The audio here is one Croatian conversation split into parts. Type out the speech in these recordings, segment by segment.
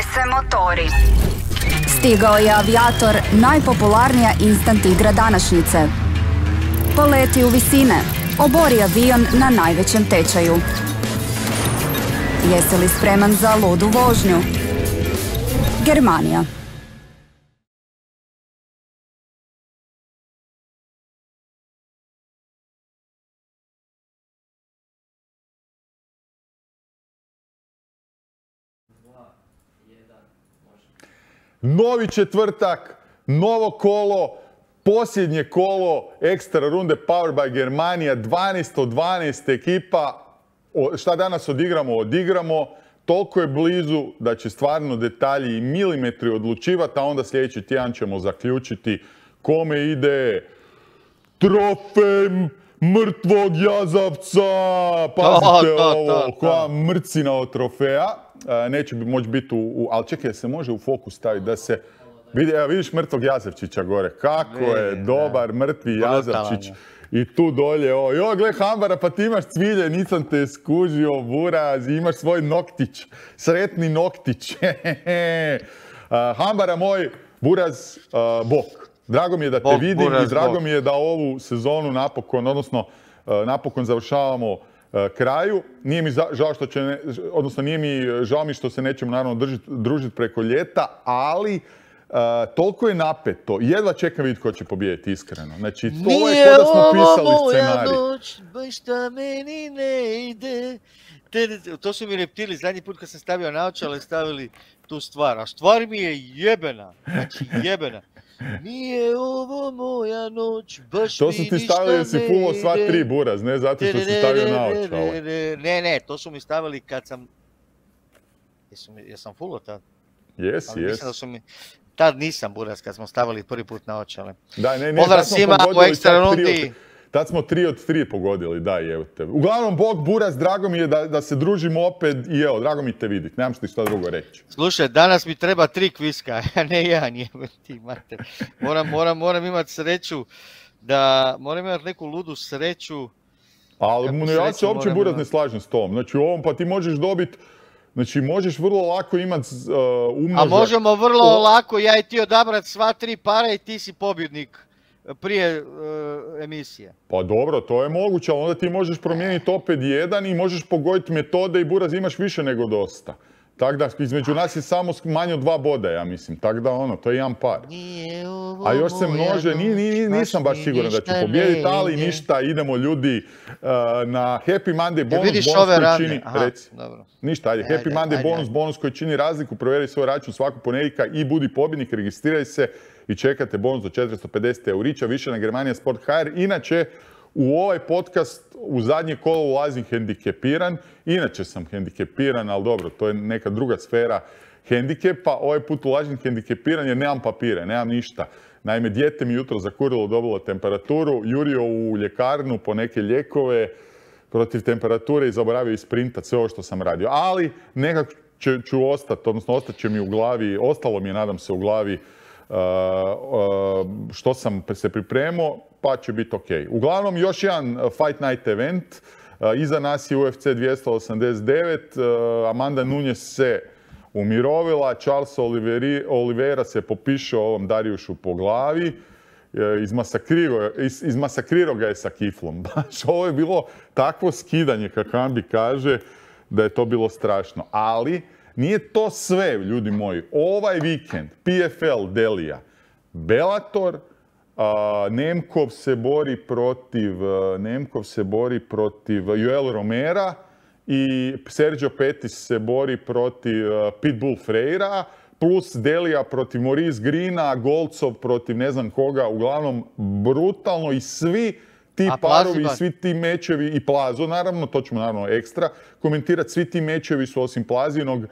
Zapale se motori. Stigao je Aviator, najpopularnija instant igra današnjice. Poleti u visine, obori avion na najvećem tečaju. Jesi li spreman za ludu vožnju? Germanija. Novi četvrtak, novo kolo, posljednje kolo ekstra runde Powered by Germania, 12 od 12 ekipa. Šta danas odigramo? Odigramo. Toliko je blizu da će stvarno detalji i milimetri odlučivati, a onda sljedeći tjedan ćemo zaključiti kome ide trofej mrtvog jazavca. Pazite ovo, koja mrcina od trofeja. Neće moći biti ali čekaj, se može u fokus staviti da se vidi, evo vidiš mrtvog jazavčića gore, kako je dobar mrtvi jazavčić. I tu dolje, joj, gle Hambara, pa ti imaš cvilje, nisam te skužio, buraz, imaš svoj noktić, sretni noktić. Hambara moj, buraz, bok. Drago mi je da te vidim i drago mi je da ovu sezonu napokon, odnosno napokon završavamo kraju. Nije mi žao što će, odnosno nije mi žao mi što se nećemo naravno družiti preko ljeta, ali toliko je napeto. Jedva čekam vidjeti ko će pobijediti, iskreno. Znači, to je kao da smo pisali scenarij. Nije ovo moja noć, baš šta meni ne ide. To su mi Reptili, zadnji put kad sam stavio naočale, stavili tu stvar. A stvar mi je jebena. Znači, jebena. Nije ovo moja noć, baš mi ništa ne ide. To su ti stavili jer si fullo sva tri, buraz, ne zato što si stavio naočale. Ne, to su mi stavili kad sam... Jesam fullo tad? Jesi. Tad nisam, buraz, kad smo stavili prvi put naočale. Da, ne, pozdrav svima u ekstra rundi. Tad smo 3 od 3 pogodili, da, evo te. Uglavnom, Bog, buraz, drago mi je da se družimo opet i evo, drago mi te vidjeti. Nemam što ti šta drugo reći. Slušaj, danas mi treba 3 kviska, a ne jedan, ti mater. Moram imati sreću moram imati neku ludu sreću. Ali ja se uopće, buraz, ne slažem s tom. Znači, u ovom pa ti možeš dobiti, znači, možeš vrlo lako imati umnožak. A možemo vrlo lako, ja i ti odabrati sva 3 para i ti si pobjednik prije emisije. Pa dobro, to je moguće, ali onda ti možeš promijeniti opet jedan i možeš pogoditi metode i buraz imaš više nego dosta. Tako da između nas je samo manje od 2 boda, ja mislim. Tako da to je jedan par. A još se množe, nisam baš siguran da ću pobijediti, ali ništa, idemo ljudi na Happy Monday bonus koji čini... Ništa, ajde, Happy Monday bonus koji čini razliku, provjeri svoj račun svakog ponedjeljka i budi pobjednik, registriraj se i čekate bonus do 450 eurića, više na Germania Sport HR. Inače, u ovaj podcast u zadnje kolo ulazim hendikepiran. Inače sam hendikepiran, ali dobro, to je neka druga sfera hendikepa. Ovaj put ulazim hendikepiran jer nemam papire, nemam ništa. Naime, dijete mi jutro zakurilo, dobilo temperaturu, jurio u ljekarnu po neke lijekove protiv temperature i zaboravio isprintati sve ovo što sam radio. Ali nekako ću ostati, odnosno ostat će mi u glavi, ostalo mi je, nadam se, u glavi što sam se pripremio, pa će biti ok. Uglavnom, još jedan Fight Night event. Iza nas je UFC 289. Amanda Nunes se umirovila. Charles Oliveira se popišao ovom Dariušu po glavi. Izmasakrirao ga je sa kiflom. Baš ovo je bilo takvo skidanje, kako Ambi kaže, da je to bilo strašno. Ali nije to sve, ljudi moji. Ovaj vikend, PFL Delija, Bellator, Nemkov se bori protiv Joel Romera i Sergio Pettis se bori protiv Pitbull Freira, plus Delija protiv Maurice Greena, Golcov protiv ne znam koga, uglavnom brutalno i svi ti parovi i svi ti mečevi i Plazo, naravno, to ćemo naravno ekstra komentirati, svi ti mečevi su osim Plazinog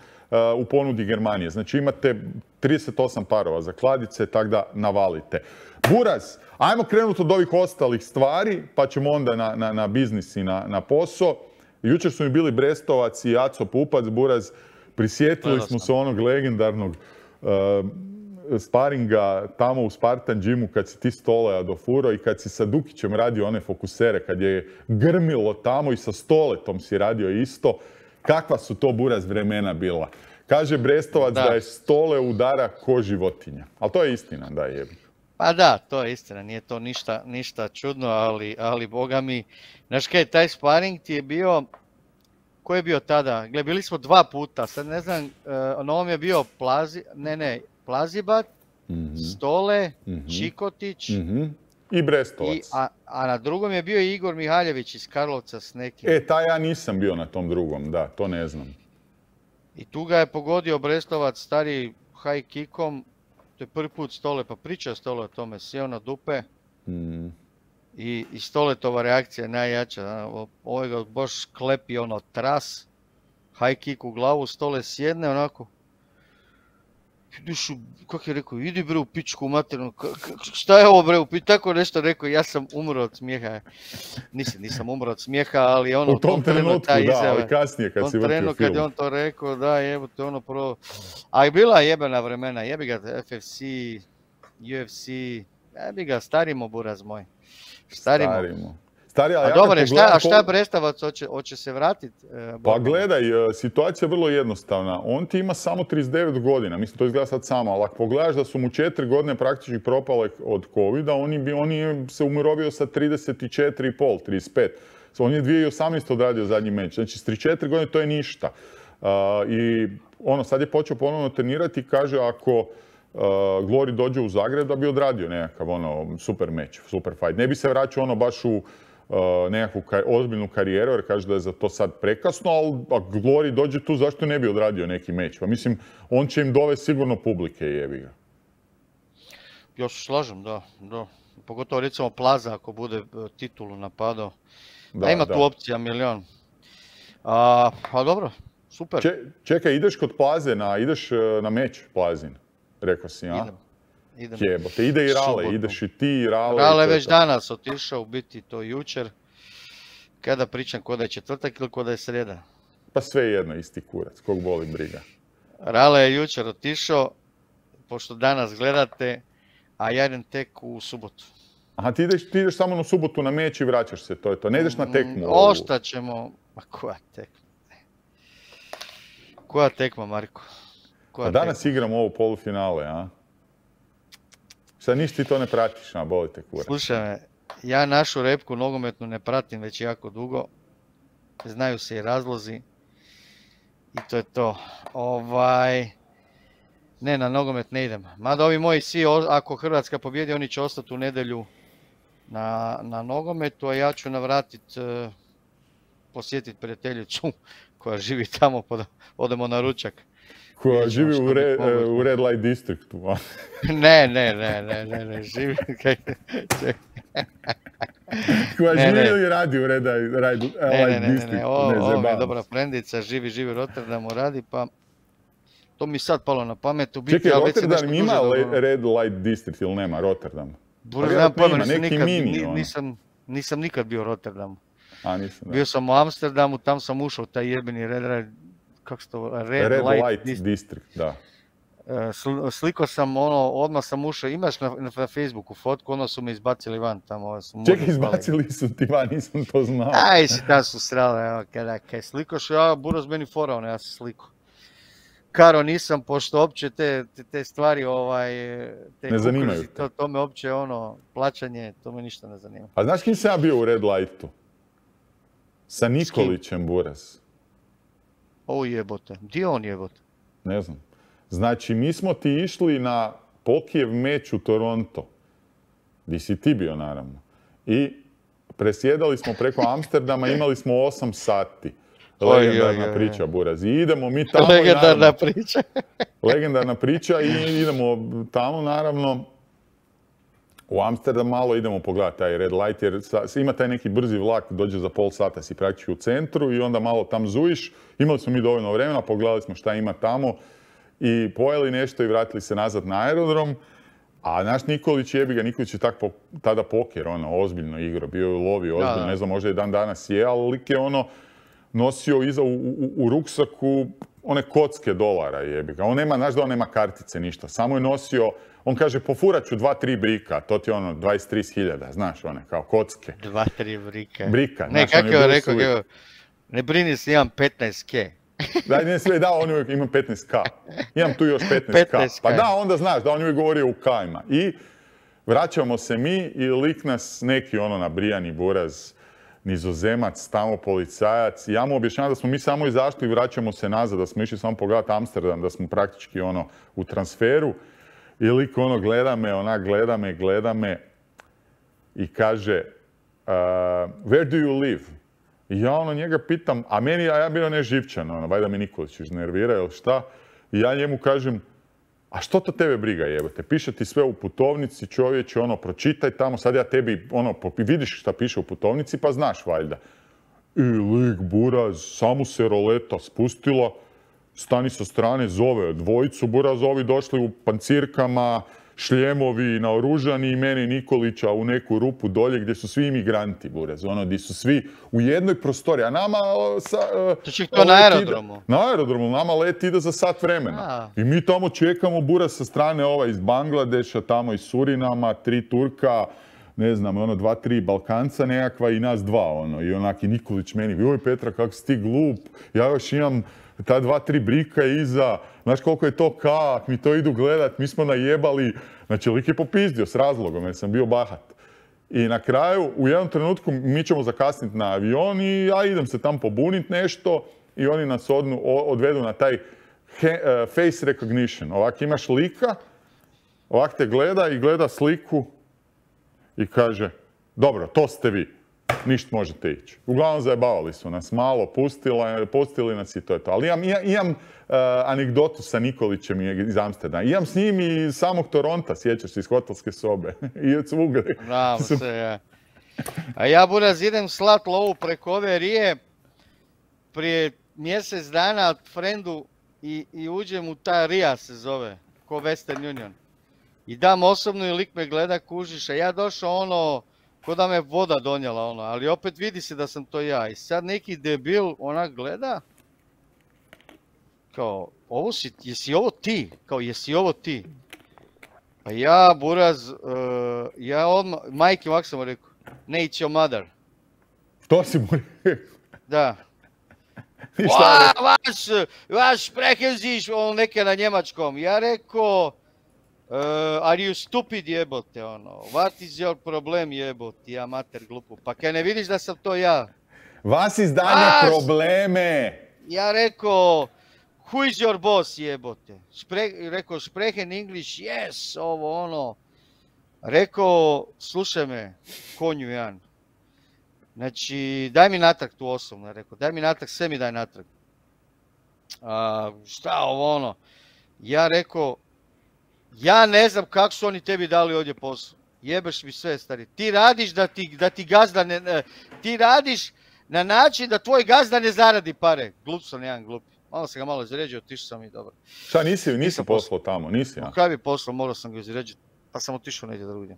u ponudi Germanije. Znači imate 38 parova za kladice, tako da navalite. Buraz, ajmo krenuti od ovih ostalih stvari, pa ćemo onda na biznis i na posao. Jučer su mi bili Brestovac i Aco Pupac, Buraz, prisjetili smo se onog legendarnog sparinga tamo u Spartan Gymu kad si ti Stoleja dofurao i kad si sa Dukićem radio one fokusere, kad je grmilo tamo i sa Stoletom si radio isto. Kakva su to, Buraz, vremena bila? Kaže Brestovac da je Stole udara ko životinja. Ali to je istina, da je. Pa da, to je istina, nije to ništa čudno, ali boga mi, znaš kaj, taj sparing ti je bio, ko je bio tada? Gle, bili smo 2 puta, sad ne znam, na ovom je bio Plazibat, Stole, Čikotić i Brestovac. A na drugom je bio Igor Mihaljević iz Karlovca s nekim. Taj ja nisam bio na tom drugom, da, to ne znam. I tu ga je pogodio Brestovac stari high kickom. To je prvi put Stole, pa priča Stole o tome, sjeo na dupe i Stoletova reakcija je najjača. Ovaj ga baš klepi ono tras, high kick u glavu, Stole sjedne onako. Kako je rekao, idi bre u pičku materinu, šta je ovo bre u pičku, tako nešto rekao, ja sam umro od smijeha. Nisam umro od smijeha, ali ono u tom trenutku, da, ali kasnije kad si vrtio film. Kad je on to rekao, da jebote ono prvo. A i bila jebena vremena, jebi ga FFC, UFC, jebi ga, starimo buraz moj. Starimo. A dobro, šta Brestavac hoće se vratiti? Pa gledaj, situacija je vrlo jednostavna. On ti ima samo 39 godina, mislim to izgleda sad samo, ali ako pogledaš da su mu 4 godine praktički propale od covida, on je se umirovio sa 34,5, 35. On je 2018. odradio zadnji meč, znači s 34 godine to je ništa. I sad je počeo ponovno trenirati i kaže ako Glory dođe u Zagreb da bi odradio nekakav super meč, super fight. Ne bi se vraćao baš u nekakvu ozbiljnu karijeru, jer kaže da je za to sad prekasno, ali ako Glory dođe tu, zašto ne bi odradio neki meč? Pa mislim, on će im dovesti sigurno publike, jebi ga. Ja se slažem, da. Pogotovo recimo Plaza, ako bude titulu napadao. Da ima tu opcija milion. Pa dobro, super. Čekaj, ideš kod Plaze, ideš na meč Plazin, rekao si, a? Idem. Jebote, ide i Rale, ideš i ti i Rale. Rale već danas otišao, u biti to jučer. Kada pričam, ko da je četvrtak ili ko da je srijeda? Pa sve jedno, isti kurac, kog boli briga. Rale je jučer otišao, pošto danas gledate, a ja idem tek u subotu. Aha, ti ideš samo na subotu na meč i vraćaš se, to je to. Ne ideš na tekmu? Ostaćemo. Ma koja tekma? Koja tekma, Marko? A danas igramo ovo polufinale, a? Sad ništa ti to ne pratiš, a boli te kurac. Slušaj me, ja našu repku nogometnu ne pratim već jako dugo. Znaju se i razlozi. I to je to. Ne, na nogomet ne idem. Mada ovi moji svi, ako Hrvatska pobjedi, oni će ostati u nedjelju na nogometu, a ja ću navratiti, posjetiti prijateljicu koja živi tamo, pa da odemo na ručak. Koja živi u Red Light Districtu. Ne, živi... Koja živi ili radi u Red Light Districtu? Ne, ovo mi je dobra frendica, živi u Rotterdamu, radi, pa... To mi sad palo na pamet. Čekaj, Rotterdam ima Red Light District ili nema Rotterdam? Nisam nikad bio u Rotterdamu. Nisam. Bio sam u Amsterdamu, tam sam ušao u taj jebeni Red Light District, da. Sliko sam odmah sam ušao, imaš na Facebooku fotku, su me izbacili van tamo. Čekaj, izbacili su ti van, nisam to znao. Si tam su srali, evo, kada slikoš, Buraz meni forao, ja sam sliko. Karo nisam, pošto opće te stvari, ne zanimaju te. To me opće, plaćanje, to me ništa ne zanima. A znaš kim sam ja bio u Red Lightu? Sa Nikolićem, Buraz. O jebote, gdje on jebote? Ne znam. Znači, mi smo ti išli na Pokijev meč u Toronto. Di si ti bio, naravno. I presjedali smo preko Amsterdama, imali smo 8 sati. Legendarna priča, Buraz. I idemo mi tamo. Legendarna priča. Legendarna priča i idemo tamo, naravno. U Amsterdam malo idemo pogledati taj Red Light, jer ima taj neki brzi vlak, dođe za pol sata, si praktički u centru i onda malo tam zujiš. Imali smo mi dovoljno vremena, pogledali smo šta ima tamo i pojeli nešto i vratili se nazad na aerodrom. A naš Nikolić, Nikolić je tada poker, ozbiljno igrao, bio je u lovi, ozbiljno, ne znam, možda i dan danas je, ali lik je nosio iza u ruksaku one kocke dolara, On nema, znaš da on nema kartice, ništa, samo je nosio, on kaže, pofurat ću 2-3 brika, to ti je 20-30 znaš, kao kocke. 2-3 brika. Brika. Ne, kako je rekao, ne brini se, imam 15 ke. Daj, ne sve, da, on uvijek ima 15k. Imam tu još 15k. Pa da, onda znaš da on uvijek govorio u kajima. I vraćamo se mi i lik nas neki ono nabrijani buraz, Nizozemac, tamo policajac. Ja mu objašnjavam da smo mi samo izašli i vraćamo se nazad, da smo išli samo pogledati Amsterdam, da smo praktički ono u transferu. I lik ono gleda me i kaže where do you live? I ja ono njega pitam, a ja bio neživčan, ono, valjda me Nikolić iznervira ili šta. I ja njemu kažem, a što to tebe briga jebote? Piše ti sve u putovnici, čovječe, ono, pročitaj tamo, sad ja tebi, ono, vidiš šta piše u putovnici, pa znaš valjda. I lik, buraz, samo se roleta spustila, stani sa strane, zove dvojicu burazovi, došli u pancirkama, šljemovi naoružani i meni Nikolića u neku rupu dolje gdje su svi imigranti, buraz, ono, gdje su svi u jednoj prostoriji, a nama... To na aerodromu? Na aerodromu, nama let ide za sat vremena. I mi tamo čekamo, buraz, sa strane iz Bangladeša, tamo iz Surinama, 3 Turka, ne znam, ono, 2-3 Balkanca nekakva i nas 2, ono, i onak i Nikolić meni, joj Petra, kako si ti glup, ja još imam ta 2-3 brika iza, znaš koliko je to kak, mi to idu gledat, mi smo najebali, znači lik je popizdio s razlogom jer sam bio bahat. I na kraju, u jednom trenutku mi ćemo zakasniti na avion i ja idem se tam pobunit nešto i oni nas odvedu na taj face recognition. Ovak imaš lika, ovak te gleda i gleda sliku i kaže, dobro, to ste vi. Ništa možete ići. Uglavnom zajebavali su nas malo, pustili nas i to je to. Ali imam anegdotu sa Nikolićem iz Amsterdama. Imam s njim i iz samog Toronta, sjećaš se, iz hotelske sobe. I od svugdje. Bravo se, ja. A ja, buraz, idem slat lovu preko ove rije prije mjesec dana od frendu i uđem u ta rija se zove, ko Western Union. I dam osobno i lik me gleda, kužiš, a ja došao ono, ko da me voda donijela ono, ali opet vidi se da sam to ja. I sad neki debil onak gleda, kao, jesi ovo ti? Kao, jesi ovo ti? Pa ja, buraz, ja odmah, majke ovak sam mu rekao, ne, it's your mother. To si mu rekao? Da. Vaš sprechen on neke na njemačkom. Ja rekao, are you stupid jebote, ono, what is your problem jebote, ja mater glupu, pa kaj ne vidiš da sam to ja? Vas izdanja probleme! Ja rekao, who is your boss jebote? Rekao, sprechen English, yes, ovo ono. Rekao, slušaj me, konju Jan. Znači, daj mi natrag tu osobno, rekao, daj mi natrag, sve mi daj natrag. Šta ovo ono? Ja rekao, ja ne znam kako su oni tebi dali ovdje posao. Jebeš mi sve, stari. Ti radiš da ti gazda ne... Ti radiš na način da tvoj gazda ne zaradi pare. Glup sam, jedan glupi. Malo sam ga malo izređao, otišao sam i dobro. Šta, nisi poslao tamo, nisi ja? Kaj bi poslao, morao sam ga izređati, pa sam otišao negdje drugdje.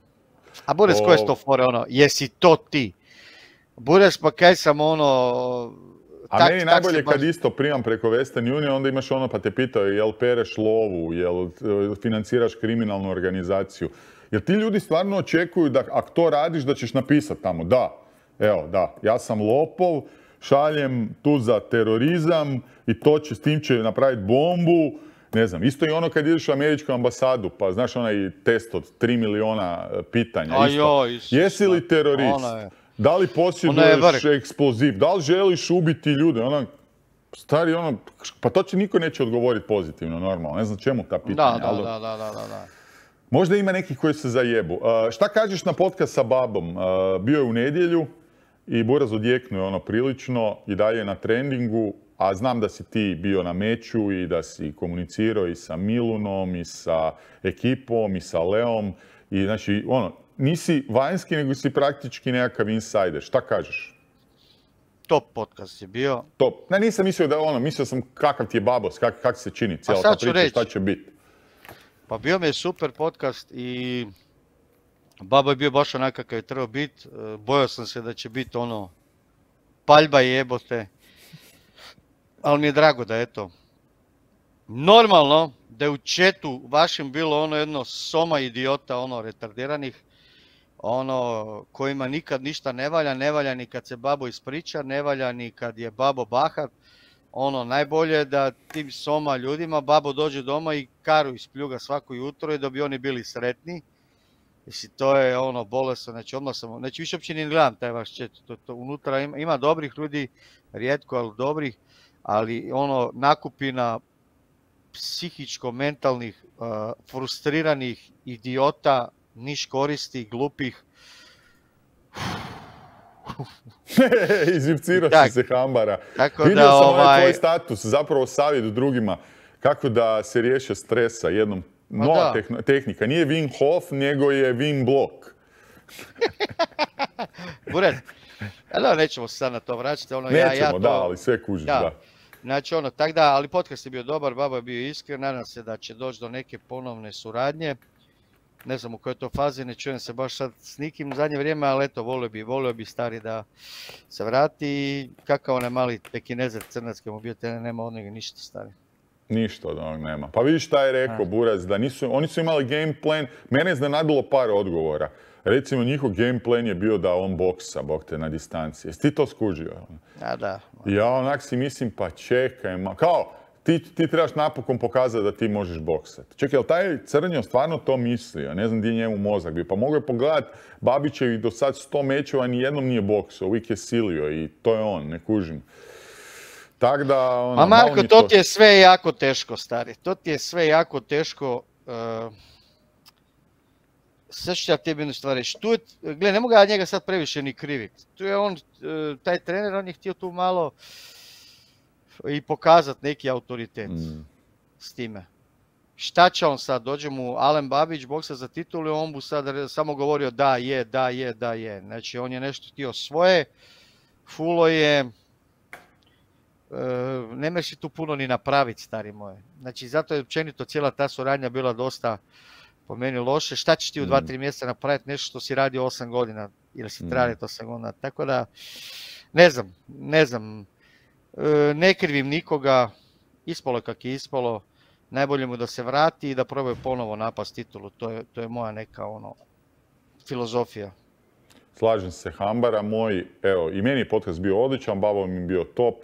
A Bures, ko je to fore, ono, jesi to ti? Bures, pa kaj sam ono... A meni najbolje kad isto primam preko Western Union, onda imaš ono pa te pitaju jel pereš lovu, jel financiraš kriminalnu organizaciju. Jer ti ljudi stvarno očekuju da ako to radiš da ćeš napisati tamo, da, evo, da, ja sam lopov, šaljem tu za terorizam i s tim će napraviti bombu. Ne znam, isto i ono kad ideš u američku ambasadu, pa znaš onaj test od 3 miliona pitanja. Jesi li terorist? Da li posjeduješ eksploziv? Da li želiš ubiti ljude? Stari, pa to će niko neće odgovoriti pozitivno, normalno. Ne znam čemu ta pitanja. Da. Možda ima nekih koji se zajebu. Šta kažeš na podcast sa babom? Bio je u nedjelju i Buraz odjeknuo prilično i dalje na trendingu, a znam da si ti bio na meču i da si komunicirao i sa Milunom i sa ekipom i sa Leom. I znači, nisi vanjski, nego si praktički nekakav insider. Šta kažeš? Top podcast je bio. Top. Ne, nisam mislio da mislio sam kakav ti je babos, kak se čini cijela ta priča, šta će biti. Pa bio mi je super podcast i babo je bio baš onak kakav je trebao biti. Bojao sam se da će biti paljba jebote. Ali mi je drago da eto. Normalno da je u chatu vašem bilo jedno soma idiota, retardiranih, kojima nikad ništa ne valja ni kad se babo ispriča, ne valja ni kad je babo bahat, ono, najbolje je da tim soma ljudima babo dođe doma i karu ispljuga svako jutro i da bi oni bili sretni. Mislim, to je ono bolesno, znači odmah sam, znači više uopće ne gledam taj vaš chat, to unutra ima dobrih ljudi, rijetko, ali dobrih, ali ono nakupina psihičko-mentalnih, frustriranih idiota, niš koristi, glupih. Izivcirao si se, Hambara. Vidio da, sam ovaj tvoj status, zapravo savjet drugima kako da se riješe stresa jednom. Nova tehnika, nije Wim Hof, nego je Wim Blok. Buret, nećemo se sad na to vraćati. Ono, nećemo, da, ali sve kužiš, da. Znači, ono, tak da, ali podcast je bio dobar, baba je bio iskren, nadam se da će doći do neke ponovne suradnje. Ne znam u kojoj to fazi, ne čujem se baš sad s nikim u zadnje vrijeme, ali eto, volio bi stari da se vrati i kakav onaj mali pekinezer crnacki mu bio, nema od njega ništa stari. Ništa od onog nema. Pa vidiš šta je rekao Buraz, da oni su imali game plan, mene je iznenadilo par odgovora. Recimo, njihov game plan je bio da on boksa, bok te na distanci. Jesi ti to skužio? Da. Ja onak si mislim, pa čekaj, kao, ti trebaš napokon pokazati da ti možeš boksati. Čekaj, jel taj Crnjo stvarno to mislio? Ne znam gdje je njemu mozak bio. Pa mogu je pogledat Babićevih do sad 100 mečeva, nijednom nije boksao, uvijek je silio i to je on, ne kužim. Tak da, ono, Marko, to ti je sve jako teško, stari. To ti je sve jako teško. Sve ću ja tebi jednu stvar reći. Gle, ne mogu ja njega sad previše ni kriviti. Tu je on, taj trener, on je htio tu malo i pokazati neki autoritet s time. Šta će on sad? Dođe mu Alen Babić, boksa za titulu i on mu sad samo govorio da je. Znači, on je nešto htio svoje, fulo je. Ne možeš tu puno ni napraviti, stari moje. Znači, zato je općenito cijela ta suradnja bila dosta po meni loše. Šta ćeš ti u 2-3 mjeseca napraviti nešto što si radio 8 godina ili si traje 8 godina. Tako da, ne znam. Ne krivim nikoga, ispalo kak je ispalo. Najbolje mu da se vrati i da probaju ponovo napast titulu. To je moja neka filozofija. Slažem se, Hambara moj, evo, i meni je podcast bio odličan, Babo mi je bio top,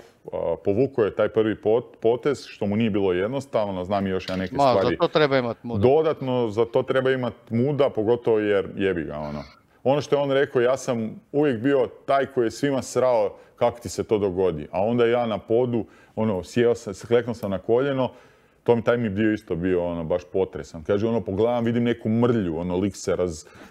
povukao je taj prvi potez, što mu nije bilo jednostavno, znam i još ja neke stvari. Za to treba imati muda. Dodatno, za to treba imati muda, pogotovo jer jebi ga, ono. Ono što je on rekao, ja sam uvijek bio taj koji je svima srao kako ti se to dogodi, a onda ja na podu, sjeo sam, kleknuo sam na koljeno, taj mi dio isto bio baš potresan. Kaže, pogledam, vidim neku mrlju, lik se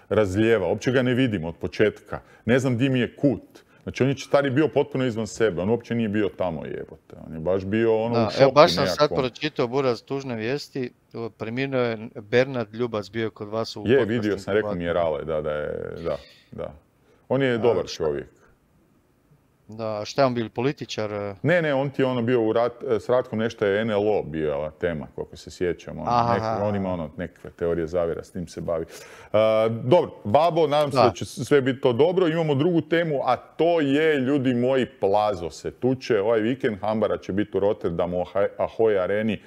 razlijeva. Uopće ga ne vidim od početka. Ne znam di mi je kut. Znači, on je stari bio potpuno izvan sebe. On uopće nije bio tamo, jebote. On je baš bio u šoku. Evo, baš sam sad pročitao, Buraz, tužne vijesti. Preminuo je Bernard Ljubac, bio kod vas u podcastu. Vidio sam, rekao mi je Rale, da. On je dobar čovjek. Da, šta je on bil, političar? Ne, on ti je bio s Ratkom, nešto je NLO bila tema, koliko se sjećam. On ima nekakve teorije zavjera, s tim se bavi. Dobro, Babo, nadam se da će sve biti to dobro. Imamo drugu temu, a to je, ljudi moji, Plazo se tuče. Ovaj vikend Hambara će biti u Rotterdamu, Ahoy areni,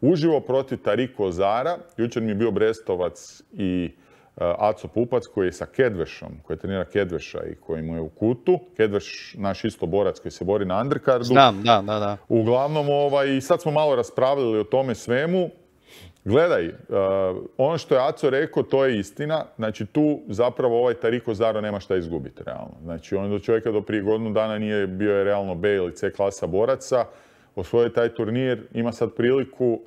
uživo protiv Tariko Zara. Jučer mi je bio Brestovac i Aco Pupac koji je sa Kedvešom, koji trenira Kedveša i koji mu je u kutu. Kedveš, naš isto borac koji se bori na undercardu. Znam, da. Uglavnom, i sad smo malo raspravljali o tome svemu. Gledaj, ono što je Aco rekao, to je istina. Znači, tu zapravo ovaj Tariko Zaro nema šta izgubiti, realno. Znači, on do čovjeka do prije godinu dana nije bio realno B ili C klasa boraca. Osvojio taj turnir, ima sad priliku.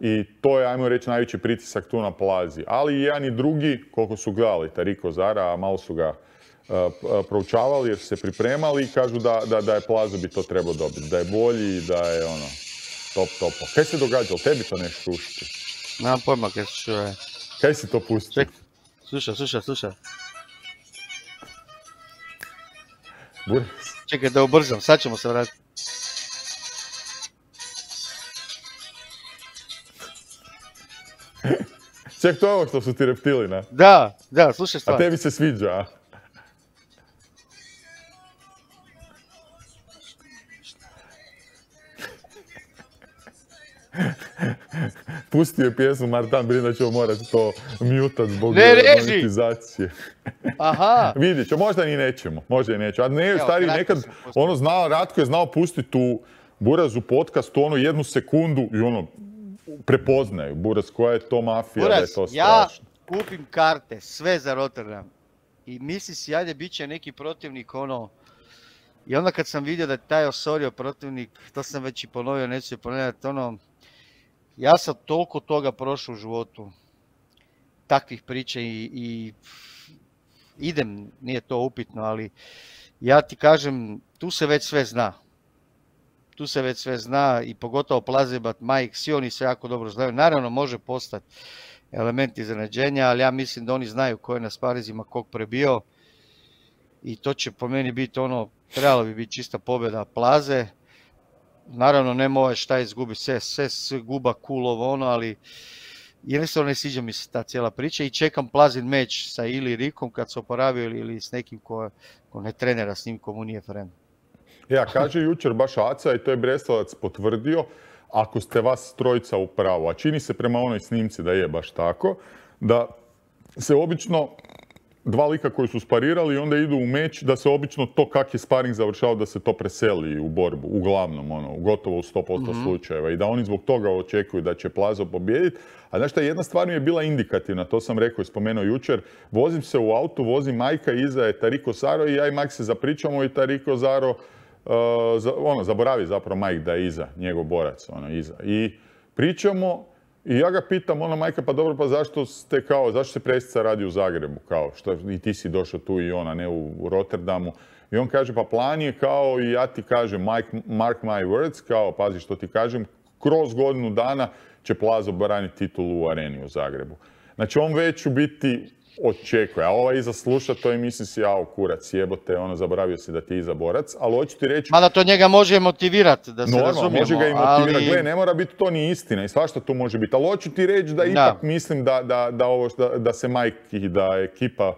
I to je, ajmo reći, najveći pritisak tu na Plazi. Ali i jedan i drugi, koliko su gledali Tariko Zara, a malo su ga proučavali jer su se pripremali i kažu da je Plazo bi to trebao dobiti. Da je bolji i da je top. Kaj se događa? Tebi to nešto šušti? Nemam pojma kaj se čuje. Kaj si to pustio? Slušaj. Buraz. Čekaj da ubrzam, sad ćemo se vratiti. Ček, to je ovo što su ti reptili, ne? Da, slušaj stvar. A tebi se sviđa, a? Pustio je pjesmu Martan Brin da ćemo morati to mutat zbog monetizacije. Aha. Vidjet ću, možda i nećemo. A ne, stari, nekad, Ratko je znao pustiti Buraz u podcastu ono 1 sekundu i ono prepoznaju. Buraz, koja je to mafija, Buraz, da je to strašno. ja kupim karte, sve za Rotterdam. I misli si, ajde, bit će neki protivnik, ono... I onda kad sam vidio da je taj Osorio protivnik, to sam već i ponovio, neću je ponoviti, ono... Ja sam toliko toga prošao u životu. Takvih priča i idem, nije to upitno, ali ja ti kažem, tu se već sve zna. Tu se već sve zna i pogotovo Plazibat, Mike, svi oni se jako dobro znaju. Naravno može postati element iznenađenja, ali ja mislim da oni znaju ko je na sparizima kog prebio. I to će po meni biti ono, trebalo bi biti čista pobjeda Plaze. Naravno nema ovaj šta izgubi, sve guba cool ovo ono, ali jednostavno ne sviđa mi se ta cijela priča i čekam Plazin meč sa ili Rikom kad se oporavio ili s nekim ko ne trenera s njim, komu nije friend. Ja, kaže jučer baš Aca i to je Brestovac potvrdio, ako ste vas trojica u pravu, a čini se prema onoj snimci da je baš tako, da se obično dva lika koji su sparirali i onda idu u meč, da se obično to kak je sparing završao da se to preseli u borbu, uglavnom, ono, gotovo u 100% slučajeva i da oni zbog toga očekuju da će Plazo pobijediti. A znaš šta, jedna stvar mi je bila indikativna, to sam rekao i spomenuo jučer, vozim se u autu, vozim Majka, iza je Tariko Zaro i ja i Mike se zapričamo i Tariko Zaro, zaboravi zapravo Mike da je iza, njegov borac, iza. I pričamo i ja ga pitam, Majka, pa dobro, pa zašto se presica radi u Zagrebu, kao, što i ti si došao tu i ona, ne u Rotterdamu. I on kaže, pa plan je kao, i ja ti kažem, mark my words, kao, pazi što ti kažem, kroz godinu dana će Plazo braniti titulu u Areni u Zagrebu. Znači, on već u biti očekuje, a ova iza sluša to i misli si, jao, kurac, jebote, zaboravio si da ti je iza borac, ali hoću ti reći... Mada to njega može motivirati, da se razumijemo, može ga i motivirati, gle, ne mora biti to ni istina i svašta tu može biti, ali hoću ti reći da ipak mislim da se Mike i da ekipa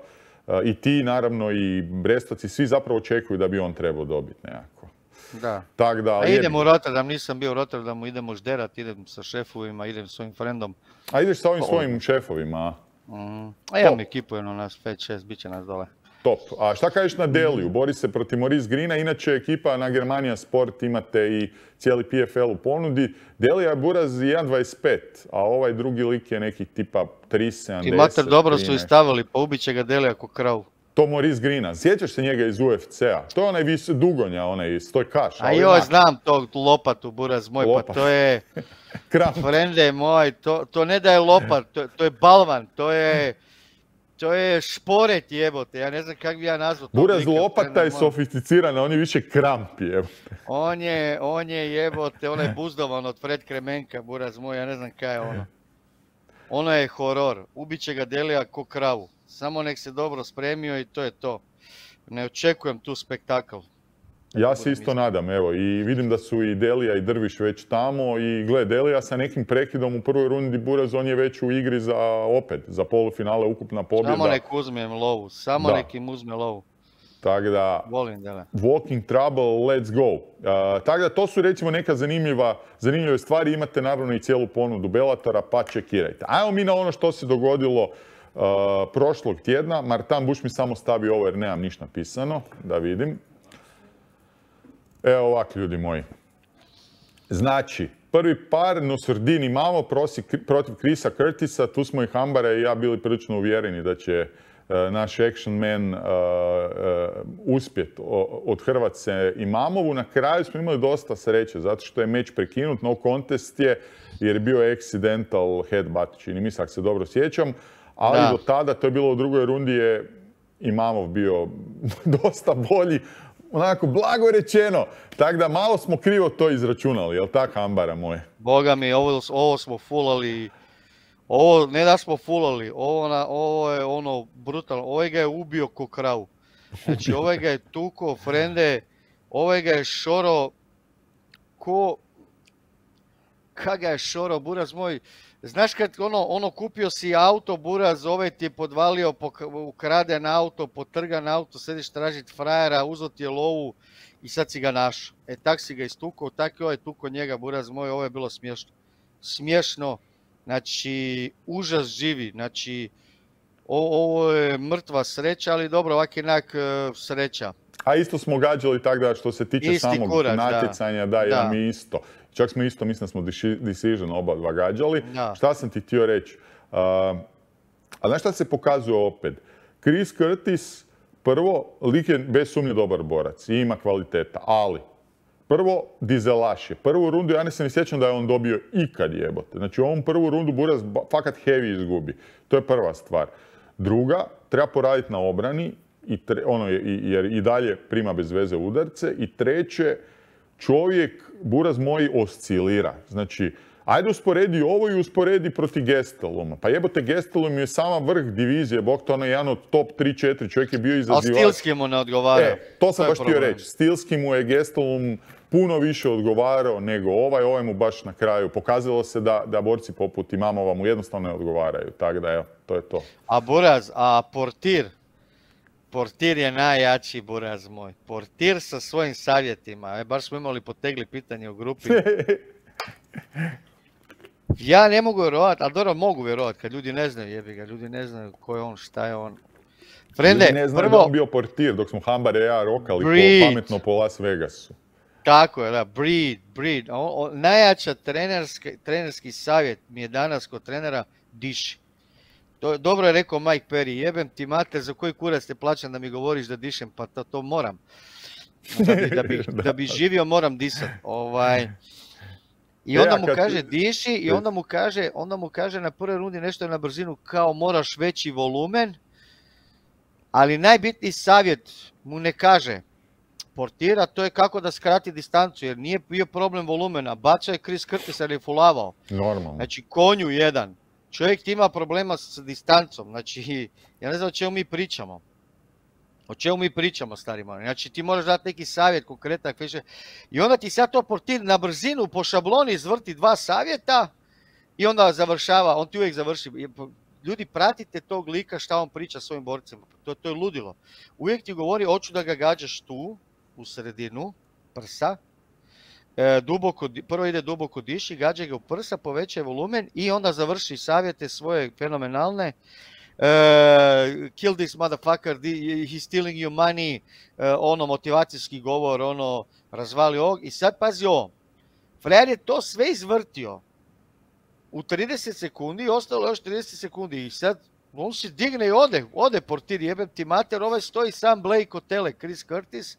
i ti, naravno, i Brestovac, svi zapravo očekuju da bi on trebao dobiti nekako. Da. Tak da, a idem u Rotterdam, nisam bio u Rotterdamu, idem u Žderat, idem sa šefovima, idem s svojim frendom. A ideš sa ovim svojim šefovima? A ja mi ekipu, nas 5-6, bit će nas dole. Top. A šta kažeš na Deliju? Bori se protiv Maurice Greena, inače ekipa na Germania Sport, imate i cijeli PFL u ponudi. Delija je Buraz 1.25, a ovaj drugi lik je nekih tipa 3.70. I mater, dobro su i stavili, pa ubit će ga Delija ko kravu. To Maurice Greena. Sjećaš se njega iz UFC-a? To je onaj dugonja, onaj stojkaš. A joj, znam tog lopatu, Buraz moj, pa to je... Frende moj, to ne da je lopat, to je balvan, to je šporet jebote, ja ne znam kak bi ja nazvao. Buraz lopata je sofisticirana, on je više kramp jebote. On je jebote, on je buzdovan od Fred Kremenka, Buraz moj, ja ne znam kaj je ono. Ono je horor, ubiće ga Delija ko kravu. Samo nek se dobro spremio i to je to. Ne očekujem tu spektakl. Ja se isto nadam, evo, i vidim da su i Delija i Drviš već tamo i gle, Delija sa nekim prekidom u prvoj rundi Buraz, on je već u igri za polufinale, ukupna pobjeda. Samo nek uzmem lovu, nek im uzme lovu. Tako da, volim Delija. Walking trouble, let's go. Tako da, to su recimo neka zanimljive stvari, imate naravno i cijelu ponudu Bellatora, pa čekirajte. Ajmo mi na ono što se dogodilo prošlog tjedna. Martin Buš mi samo stavi ovo jer nemam ništa napisano, da vidim. Evo ovak, ljudi moji. Znači, prvi par Nosordin imamo protiv Chrisa Curtisa. Tu smo i Hambara i ja bili prilično uvjereni da će naš action man uspjeti od Hrvatske Imamovu. Na kraju smo imali dosta sreće, zato što je meč prekinut, no contest je, jer je bio accidental headbutt, čini mi se, ako se dobro sjećam. Ali do tada, to je bilo u drugoj rundi, je Imamov bio dosta bolji. Onako, blago rečeno. Tako da malo smo krivo to izračunali, jel tak, Hambara moje? Boga mi, ovo smo fulali. Ovo, ne da smo fulali, ovo je ono brutalno. Ovaj ga je ubio ko kravu. Znači, ovaj ga je tuko, frende, ovaj ga je šoro ko... Kak ga je šoro, Buraz moj. Znaš kad kupio si auto, Buraz, ovaj ti je podvalio, ukraden auto, potrgan auto, sediš tražit frajera, uzeo ti je lovu i sad si ga našao. Tak si ga istukao, tak je ovaj tukao njega, Buraz moj, ovo je bilo smiješno. Smiješno, znači, užas živi, znači, ovo je mrtva sreća, ali dobro, ovak jednak sreća. A isto smo gađali tako da što se tiče Isti samog kurac, natjecanja, da, ja mi isto. Čak smo isto, mislim da smo Decision oba dva gađali. Da. Šta sam ti htio reći? A znaš šta se pokazuje opet? Chris Curtis, prvo, lik je bez sumnje dobar borac i ima kvaliteta, ali prvo, dizelaš je. Prvu rundu, ja ne se ne sjećam da je on dobio ikad jebote. Znači, u ovom prvu rundu Buraz fakat heavy izgubi. To je prva stvar. Druga, treba poraditi na obrani, jer i dalje prima bez veze udarce. I treće, čovjek, Buraz moj, oscilira. Znači, ajde usporedi ovo i usporedi protiv Gesteluma. Pa jebote, Gestelum je sama vrh divizije, bog to je jedan od top 3-4, čovjek je bio izazivač. Ali stilski mu ne odgovara. To sam baš htio reći. Stilski mu je Gestelum puno više odgovarao nego ovaj mu baš na kraju. Pokazalo se da borci poput Imamova mu jednostavno ne odgovaraju. Tako da, evo, to je to. A Buraz, Portir je najjači, Buraz moj. Portir sa svojim savjetima. Baš smo imali potegli pitanje u grupi. Ja ne mogu vjerovati, ali dobro mogu vjerovati kad ljudi ne znaju, jebi ga, ljudi ne znaju ko je on, šta je on. Frende, ljudi ne znaju da on bio portir dok smo Hambar i ja rokali pametno po Las Vegasu. Tako je, da, breed. Najjača trenerski savjet mi je danas kod trenera diši. Dobro je rekao Mike Perry, jebem ti mater, za koji kurac te plaćam da mi govoriš da dišem, pa to moram. Da bi živio moram disat. I onda mu kaže diši i onda mu kaže na prvoj rundi nešto je na brzinu kao moraš veći volumen, ali najbitniji savjet mu ne kaže Portira, to je kako da skrati distancu, jer nije bio problem volumena. Bača je Chris Curtis jer je fulavao. Normalno. Znači konju jedan. Čovjek ti ima problema s distancom. Znači, ja ne znam o čemu mi pričamo. O čemu mi pričamo, stari moji. Znači, ti moraš dati neki savjet konkretan. I onda ti sad to Portir na brzinu po šabloni izvrti 2 savjeta i onda završava. On ti uvijek završi. Ljudi, pratite tog lika šta on priča svojim borcima. To je ludilo. Uvijek ti govori, hoću da ga gađaš tu, u sredinu, prsa. Prvo ide duboko diši, gađa ga u prsa, povećaj volumen i onda završi savjete svoje fenomenalne. Kill this motherfucker, he's stealing your money, motivacijski govor, razvali ovog. I sad pazi ovo, frajer je to sve izvrtio u 30 sekundi, ostalo još 30 sekundi i sad on se digne i ode Portir, jebem ti mater, ovaj stoji sam Blake od tele, Chris Curtis.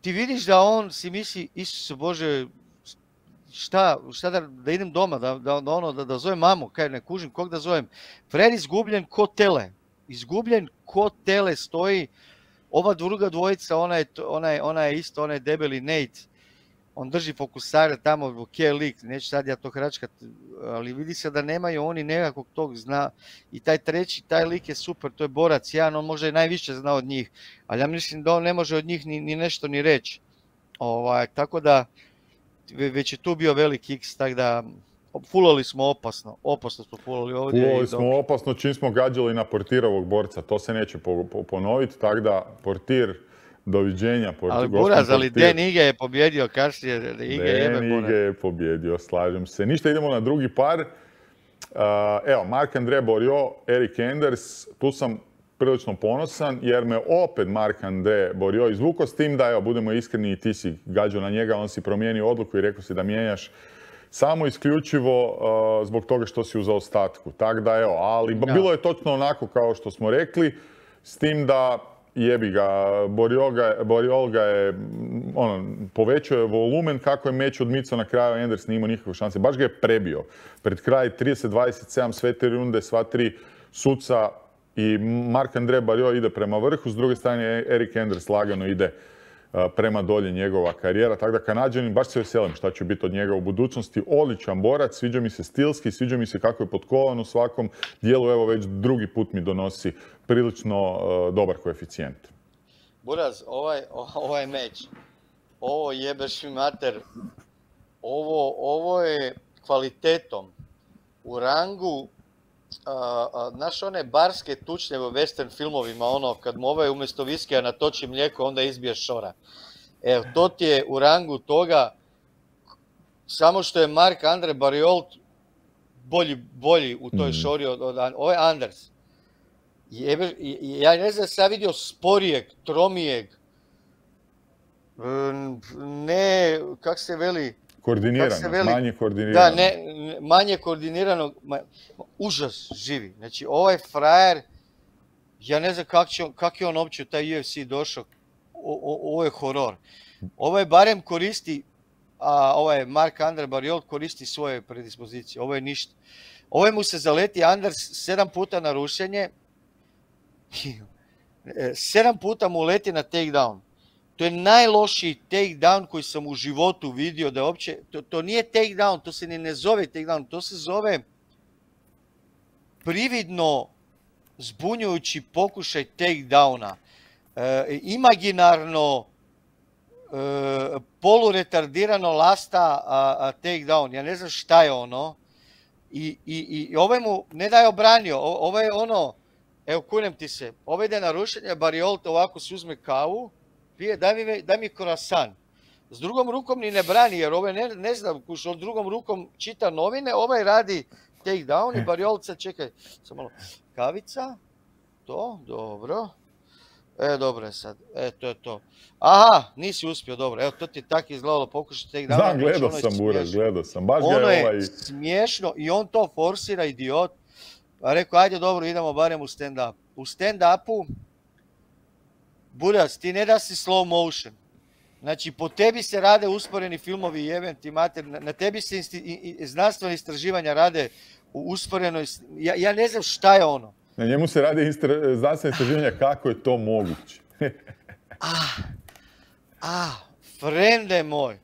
Ti vidiš da on si misli, Isuse Bože, šta da idem doma, da zovem mamu, kaj ne kužim, kog da zovem. Fred izgubljen ko tele stoji, ova druga dvojica, ona je isto, ona je debeli Nate, on drži fokusare tamo, lik, neću sad ja to hračkat, ali vidi se da nemaju oni nekakvog tog zna. I taj treći, taj lik je super, to je borac jedan, on možda i najviše zna od njih, ali ja mislim da on ne može od njih ni nešto ni reći. Tako da, već je tu bio veliki X, tako da, fulali smo opasno smo fulali ovdje. Fulali smo opasno čim smo gađali na Portirovog borca, to se neće ponoviti, tako da Portir, doviđenja. Ali Buraz, ali Dan Ige je pobjedio kasnije. Dan Ige je pobjedio, slažem se. Ništa, idemo na drugi par. Evo, Marc-André Barriault, Erik Enders, tu sam prilično ponosan jer me opet Marc-André Barriault izvukao s tim da, evo, budemo iskreni, ti si gađao na njega, on si promijenio odluku i rekao si da mijenjaš samo isključivo zbog toga što si u zaostatku. Tako da, evo, ali bilo je točno onako kao što smo rekli, s tim da jebi ga, Barriault ga je, povećao je volumen kako je meč odmicao na kraju, Enders nije imao nikakve šanse, baš ga je prebio. Pred kraj 30-27, sve 3 runde, sva 3 suca i Marc-André Barriault ide prema vrhu, s druge strane Erik Enders lagano ide prema dolje njegova karijera, tako da Kanađanin, baš se veselim šta će biti od njega u budućnosti. Odličan borac, sviđa mi se stilski, sviđa mi se kako je potkovan u svakom dijelu, evo već drugi put mi donosi prilično dobar koeficijent. Buraz, ovaj meč, ovo jebeš mi mater, ovo je kvalitetom u rangu, znaš one barske tučnje u western filmovima, kad mu ovaj umjesto viskija natoči mlijeko, onda izbije šora. Evo, to ti je u rangu toga, samo što je Marc-André Barriault bolji u toj šori od ovo je Anders. Ja ne znam, sam vidio sporijeg, tromijeg, ne, kak se veli... Manje koordinirano. Da, manje koordinirano, užas živi. Znači, ovaj frajer, ja ne znam kak je on uopće u taj UFC došao, ovo je horor. Ovo je barem koristi, a ovaj Marc-André Barriault koristi svoje predispozicije, ovo je ništa. Ovo mu se zaleti Anders 7 puta na rušenje, 7 puta mu leti na takedown. To je najlošiji takedown koji sam u životu vidio, da uopće, to nije takedown, to se ne zove takedown, to se zove prividno zbunjujući pokušaj takedowna. Imaginarno poluretardirano lasta takedown, ja ne znam šta je ono. I ovaj mu ne da je obranio, ovo je ono, evo kunem ti se, ovo ide na rušenje, Barriault ovako se uzme kavu, pije, daj mi croissant. S drugom rukom ni ne brani, jer ovaj ne znam, on drugom rukom čita novine, ovaj radi takedown i Barriault sad čekaj, sam malo, kavica, to, dobro. Dobro je sad, to je to. Aha, nisi uspio, dobro, evo to ti je tako izgledalo, pokušaj takedown. Znam, gledao sam, Buraz, gledao sam, baš ga je ovaj... Ono je smiješno i on to forsira, idiot. Pa rekao, ajde dobro, idemo barem u stand-up. U stand-upu, Buraz, ti ne da si slow motion. Znači, po tebi se rade usporeni filmovi, jebem ti mater, na tebi se znanstvene istraživanja rade u usporenoj... Ja ne znam šta je ono. Na njemu se rade znanstvene istraživanja kako je to moguće. Frende moj.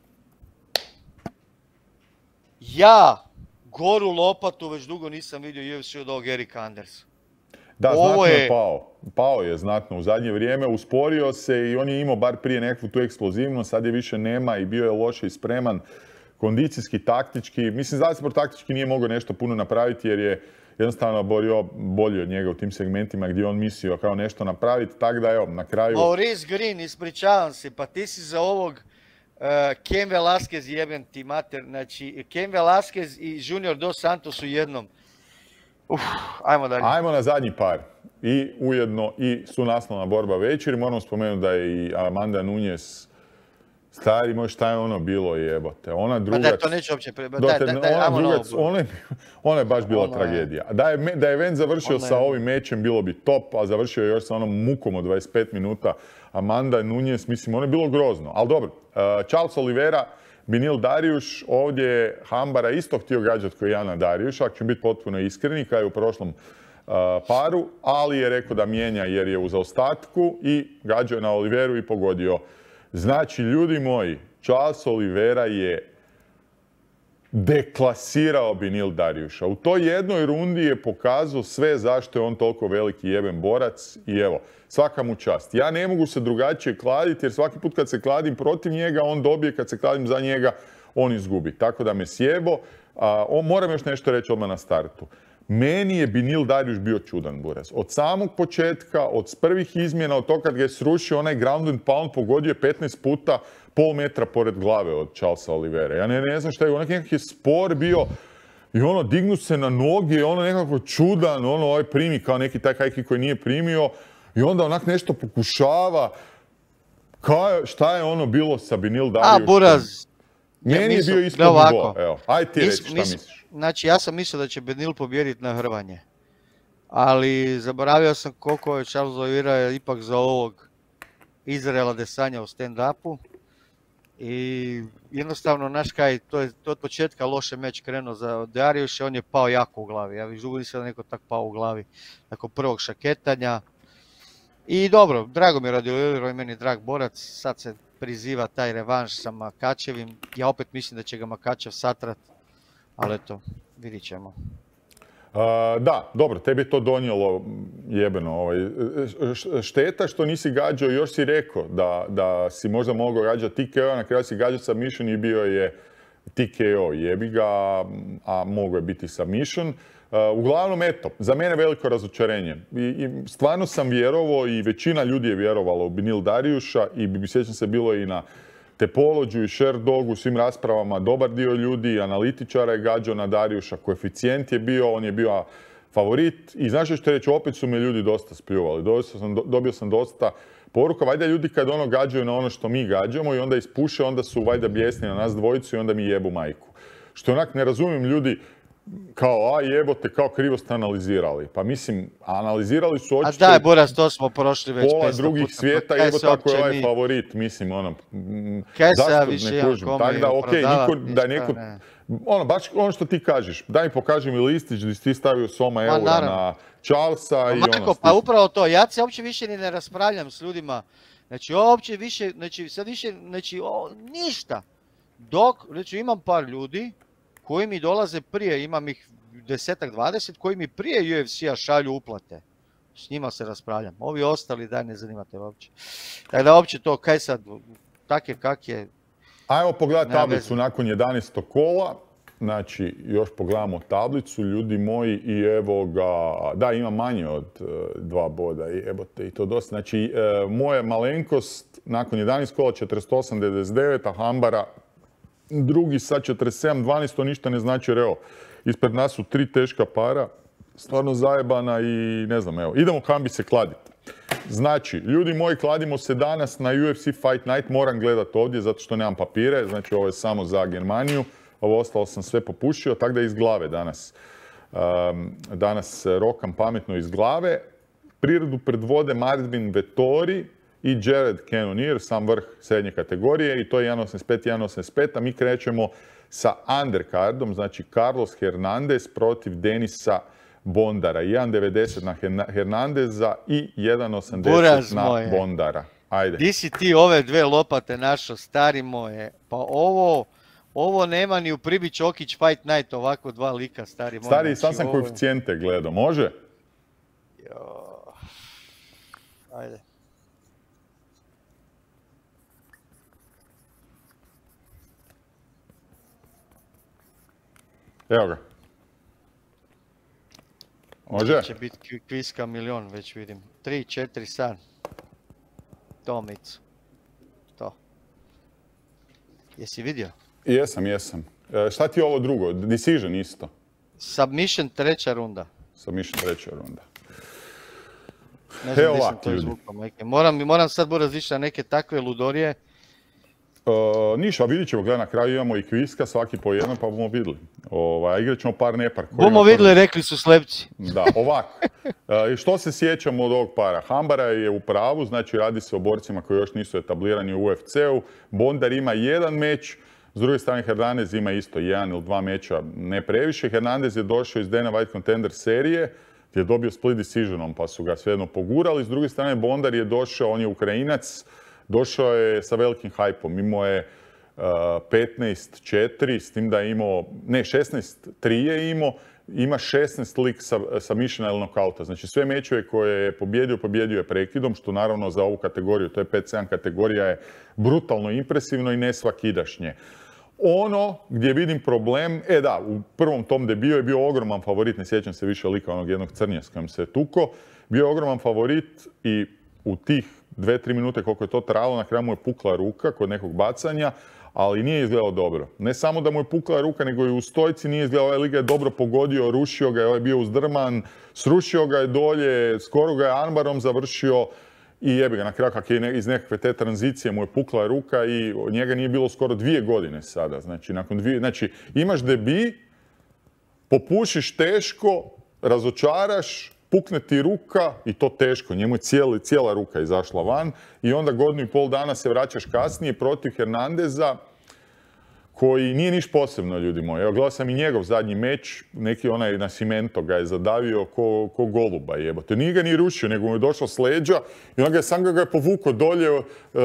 Ja goru lopatu već dugo nisam vidio UFC od ovog Erika Andersa. Da, znatno je pao. Pao je znatno u zadnje vrijeme, usporio se i on je imao bar prije nekakvu tu eksplozivnost, sad je više nema i bio je loše i spreman, kondicijski, taktički. Mislim, zasigurno taktički nije mogao nešto puno napraviti jer je jednostavno bolji od njega u tim segmentima gdje on mislio kao nešto napraviti, tako da evo, na kraju... Maurice Green, ispričavam se, pa ti si za ovog Cain Velasquez, jebem ti mater, znači Cain Velasquez i Junior Dos Santos u jednom. Ajmo dalje. Ajmo na zadnji par. I ujedno i sunaslovna borba večeri. Moram spomenuti da je i Amanda Nunes stari, moj, šta je ono bilo, jebote. Ona drugac... Pa da, to neću uopće ona je baš bila tragedija. Da je event završio sa ovim mečem, bilo bi top, a završio je još sa onom mukom od 25 minuta. Amanda Nunes, mislim, ono je bilo grozno. Ali dobro, Charles Oliveira, Beneil Dariush, ovdje je Hambara isto htio gađati kao Jana Dariusha, ako ću biti potpuno iskreni, kao je u prošlom paru, ali je rekao da mijenja jer je u zaostatku i gađao je na Oliveiru i pogodio. Znači, ljudi moji, Charles Oliveira je deklasirao Beneil Dariusha. U toj jednoj rundi je pokazao sve zašto je on toliko veliki jeben borac i evo, svaka mu čast. Ja ne mogu se drugačije kladiti jer svaki put kad se kladim protiv njega, on dobije, kad se kladim za njega, on izgubi. Tako da me sjebo. Moram još nešto reći odmah na startu. Meni je Beneil Dariush bio čudan, Buraz. Od samog početka, od prvih izmjena, od toga kad ga je srušio, onaj ground and pound pogodio je 15 puta pol metra pored glave od Charlesa Oliveira. Ja ne znam šta je, onak nekak je spor bio i ono dignu se na noge, ono nekako čudan, ono ovaj primi kao neki taj high kick koji nije primio i onda onak nešto pokušava. Šta je ono bilo sa Beneil Dariushom? Buraz. Meni je bio ispod nivo. Evo, aj ti reći šta misliš. Znači, ja sam mislio da će Beneil pobijediti na hrvanje. Ali zaboravio sam koliko je Charles Oliveira ipak za ovog Izraela Desanja u stand-upu. I jednostavno, znaš kaj, to je od početka loše meč krenuo za Dariusha, on je pao jako u glavi. Ja dugo nisam da neko tak pao u glavi nakon prvog šaketanja. I dobro, drago mi je radi Oliveira, meni je drag borac, sad se priziva taj revanš sa Makačevim. Ja opet mislim da će ga Makačev satrat, ali eto, vidit ćemo. Da, dobro, tebi je to donijelo jebeno. Šteta što nisi gađao, još si rekao da si možda mogao gađati TKO, na kraju si gađao submission i bio je TKO, jebi ga, a mogao je biti submission. Uglavnom, eto, za mene veliko razočarenje. I stvarno sam vjerovao i većina ljudi je vjerovala u Beneil Dariusha i sjećam se bilo i na Tepolođu i Sherdogu, u svim raspravama, dobar dio ljudi, analitičara je gađao na Dariusha, koeficijent je bio, on je bio favorit i znaš što ću reći, opet su me ljudi dosta spljuvali. Dobio sam dosta poruka, valjda ljudi kad ono gađaju na ono što mi gađamo i onda ispuše, onda su valjda bijesni na nas dvojicu i onda mi jebu majku. Što onak ne razumijem ljudi, kao, a jebote, kao krivo ste analizirali. Pa mislim, analizirali su očito... A daj, Buras, to smo prošli već 500 puta. Pola drugih svijeta, jebote, ako je ovaj favorit, mislim, ono... Kaj se ja više imam kome prodavati, ono, baš ono što ti kažeš, daj mi pokaži mi listić gdje si ti stavio Soma eura na Charlesa i ono... Pa upravo to, ja se uopće više ni ne raspravljam s ljudima. Znači, uopće više, sad više, ništa. Dok, znači, imam par ljudi koji mi dolaze prije, imam ih 10-20, koji mi prije UFC-a šalju uplate. S njima se raspravljam. Ovi ostali, daj, ne zanimate uopće. Tako da uopće to, kaj sad, tak je kak je... Ajmo pogledati tablicu nakon 11. kola. Znači, još pogledamo tablicu, ljudi moji, i evo ga, da, ima manje od 2 boda, i ebote, i to dosta. Znači, moja malenkost nakon 11 kola 48-99, a Hambara drugi sa 47-12, to ništa ne znači, jer evo, ispred nas su 3 teška para, stvarno zajebana i ne znam, evo, idemo Hambi se kladiti. Znači, ljudi moji, kladimo se danas na UFC Fight Night, moram gledati ovdje zato što nemam papire, znači ovo je samo za Germaniju, ovo ostalo sam sve popušio, tako da iz glave danas. Danas rokam pametno iz glave. Prirodu predvode Marvin Vettori i Jared Cannonier, sam vrh srednje kategorije, i to je 1.85, 1.85, a mi krećemo sa undercardom, znači Carlos Hernandez protiv Denisa Bondara. 1.90 na Hernandeza i 1.80 na Bondara. Ajde. Di si ti ove dve lopate našo, stari moje? Pa ovo nema ni u Pribi Čokić Fight Night, ovako dva lika, stari moje. Stari, sam sam koeficijente gledao, može? Ajde. Evo ga. Može? Će biti kviska milion, već vidim. 3-4 san. To, Micu. To. Jesi vidio? Jesam. Šta ti je ovo drugo? Decision isto? Submission 3. runda. Submission 3. runda. Ne znam gdje sam to izvukao, majke. Moram sad različiti na neke takve ludorije. Ništa, vidit ćemo, gledaj, na kraju imamo i kviska, svaki po jednom, pa bomo vidjeli. Igrat ćemo par nepar. Bomo vidjeli, rekli su slepci. Da, ovako. Što se sjećamo od ovog para? Hambara je u pravu, znači radi se o borcima koji još nisu etablirani u UFC-u. Bondar ima 1 meč, s druge strane Hernandez ima isto 1 ili 2 meča, ne previše. Hernandez je došao iz Dana White Contender serije, gdje je dobio split decisionom, pa su ga svejedno pogurali. S druge strane Bondar je došao, on je Ukrajinac, došao je sa velikim hajpom, imao je 15-4, s tim da je imao, ne 16-3 je imao, ima 16 lik submissiona ili nokauta. Znači sve mečeve koje je pobjedio je prekidom, što naravno za ovu kategoriju, to je 5-7 kategorija, je brutalno impresivno i nesvakidašnje. Ono gdje vidim problem, u prvom tom debiju je bio ogroman favorit, ne sjećam se više lika onog jednog crnja s kojim se tuko, bio je ogroman favorit i u tih 2-3 minute koliko je to trajalo, na kraju mu je pukla ruka kod nekog bacanja, ali nije izgledao dobro. Ne samo da mu je pukla ruka, nego i u stojci nije izgledao, ovaj lik ga je dobro pogodio, rušio ga je, ovaj bio uzdrman, srušio ga je dolje, skoro ga je armbarom završio i jebi ga, na kraju kak je iz nekakve te tranzicije mu je pukla ruka i njega nije bilo skoro 2 godine sada. Znači, imaš debi, popušiš teško, razočaraš, pukne ti ruka i to teško, njemu je cijela ruka izašla van i onda 1,5 godinu dana se vraćaš kasnije protiv Hernandeza koji nije niš posebno, ljudi moji. Evo, gledao sam i njegov zadnji meč, neki onaj na Cimento ga je zadavio ko goluba, jebote. Nije ga ni rušio, nego mu je došao s leđa i onda sam ga je povukao dolje,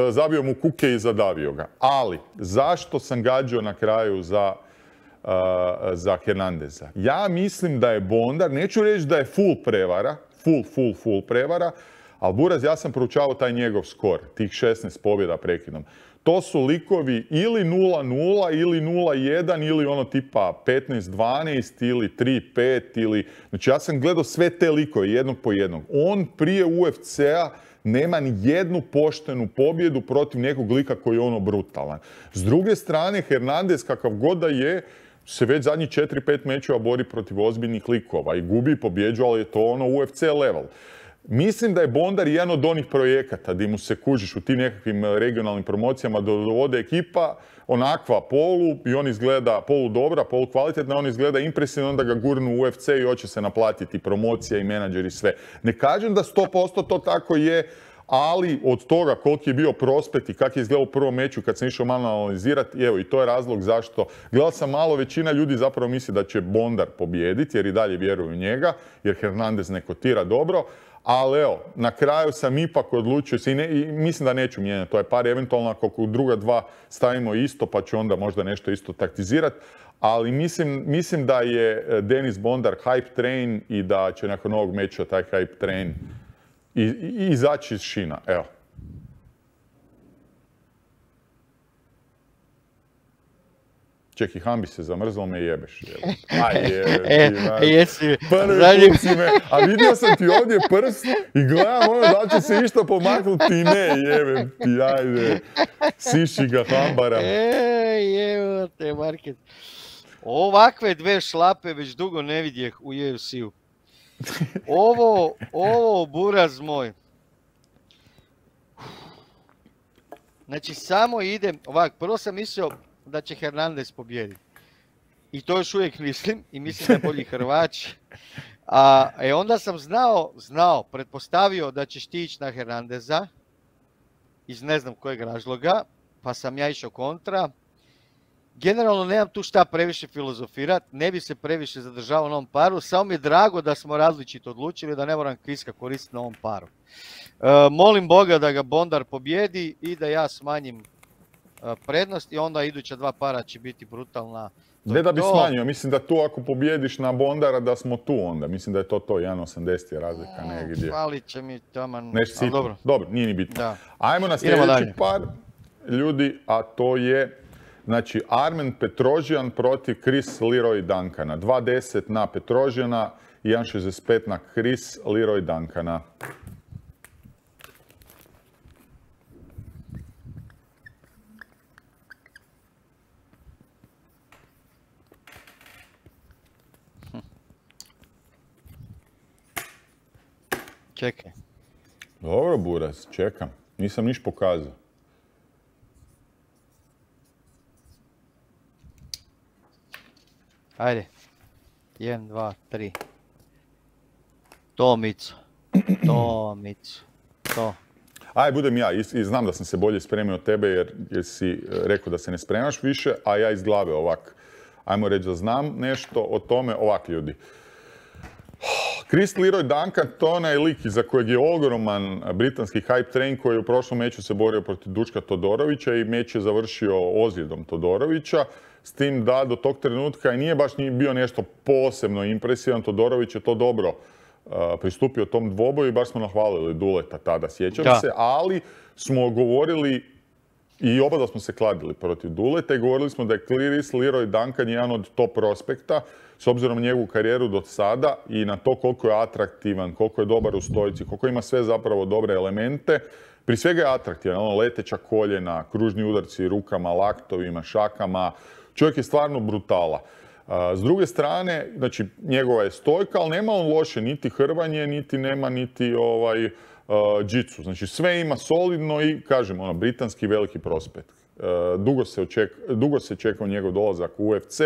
zabio mu kuke i zadavio ga. Ali, zašto sam gađao na kraju za Hernandeza? Ja mislim da je Bondar, neću reći da je full prevara, full prevara, ali Buraz, ja sam proučavao taj njegov skor, tih 16 pobjeda prekidom. To su likovi ili 0-0, ili 0-1, ili ono tipa 15-12, ili 3-5, ili... Znači ja sam gledao sve te likove, jednog po jednog. On prije UFC-a nema ni jednu poštenu pobjedu protiv nekog lika koji je ono brutalan. S druge strane, Hernandez, kakav god da je, se već zadnjih 4-5 mečeva bori protiv ozbiljnih likova i gubi i pobjeđu, ali je to ono UFC level. Mislim da je Bondar jedan od onih projekata gdje mu se kužiš u tim nekakvim regionalnim promocijama dovode ekipa onakva polu i on izgleda polu dobra, polu kvalitetna, on izgleda impresivno, onda ga gurnu u UFC i hoće se naplatiti promocija i menadžer i sve. Ne kažem da 100% to tako je, ali od toga koliki je bio prospekt i kak je izgledao u prvom meču kad sam išao malo analizirati, evo i to je razlog zašto. Gledao sam malo, većina ljudi zapravo misli da će Bondar pobijediti jer i dalje vjeruju u njega, jer Hernandez ne kotira dobro. Ali evo, na kraju sam ipak odlučio se i mislim da neću mijenjati. To je par eventualno ako druga dva stavimo isto pa ću onda možda nešto isto taktizirati. Ali mislim da je Denis Bondar hype train i da će nakon ovog meča taj hype train izaći iz šina. Evo. Čekaj, Hambi se zamrzlo me jebeš. Jesi. Prvi put si me, a vidio sam ti ovdje prst i gledam ono da će se išta pomaknuti i ne, jebem ti, ajde. Siši ga Hambara. Jevo te, Market. Ovakve dve šlape već dugo ne vidjeh u UFC-u. Ovo, buraz moj. Znači, samo idem, ovak, prvo sam mislio da će Hernandez pobijediti. I to još uvijek mislim, i mislim da je bolji Hrvač. A onda sam pretpostavio da ćeš ti ići na Hernandeza, iz ne znam kojeg razloga, pa sam ja išao kontra. Generalno nemam tu šta previše filozofirat, ne bi se previše zadržavao na ovom paru, samo mi je drago da smo različito odlučili, da ne moram kviska koristiti na ovom paru. Molim Boga da ga Bondar pobjedi i da ja smanjim prednost i onda iduća dva para će biti brutalna. Ne da bi smanjio, mislim da tu ako pobjediš na Bondara da smo tu onda. Mislim da je to 1.80 je razlika negdje. Falit će mi taman. Dobro, nije ni bitno. Da. Ajmo na sljedeći par ljudi, a to je znači Armen Petrosyan protiv Chris Leroy Duncana. 2.10 na Petrosyana, 1.65 na Chris Leroy Duncana. Čekaj. Dobro, Buraz, čekam. Nisam niš pokazao. Ajde. 1, 2, 3. Tomicu. To. Aj, budem ja. I znam da sam se bolje spremio od tebe jer si rekao da se ne spremaš više, a ja iz glave ovak. Ajmo reći da znam nešto o tome. Ovak, ljudi. Chris Leroy Duncan, to je onaj lik iza kojeg je ogroman britanski hype train koji u prošlom meču se borio protiv Duška Todorovića i meč je završio ozljedom Todorovića. S tim da do tog trenutka i nije baš bio nešto posebno impresivan. Todorović je to dobro pristupio tom dvoboju i baš smo nahvalili Duleta tada, sjećam se, ali smo govorili i oba da smo se kladili protiv Duleta i govorili smo da je Chris Leroy Duncan jedan od top prospekta s obzirom na njegovu karijeru do sada i na to koliko je atraktivan, koliko je dobar u stojici, koliko ima sve zapravo dobre elemente. Prije svega je atraktivan, leteća koljena, kružni udarci rukama, laktovima, šakama. Čovjek je stvarno brutala. S druge strane, znači njegova je stojka, ali nema on loše niti hrvanje, niti nema niti džicu. Znači sve ima solidno i, kažem, britanski veliki prospekt. Dugo se čekao njegov dolazak u UFC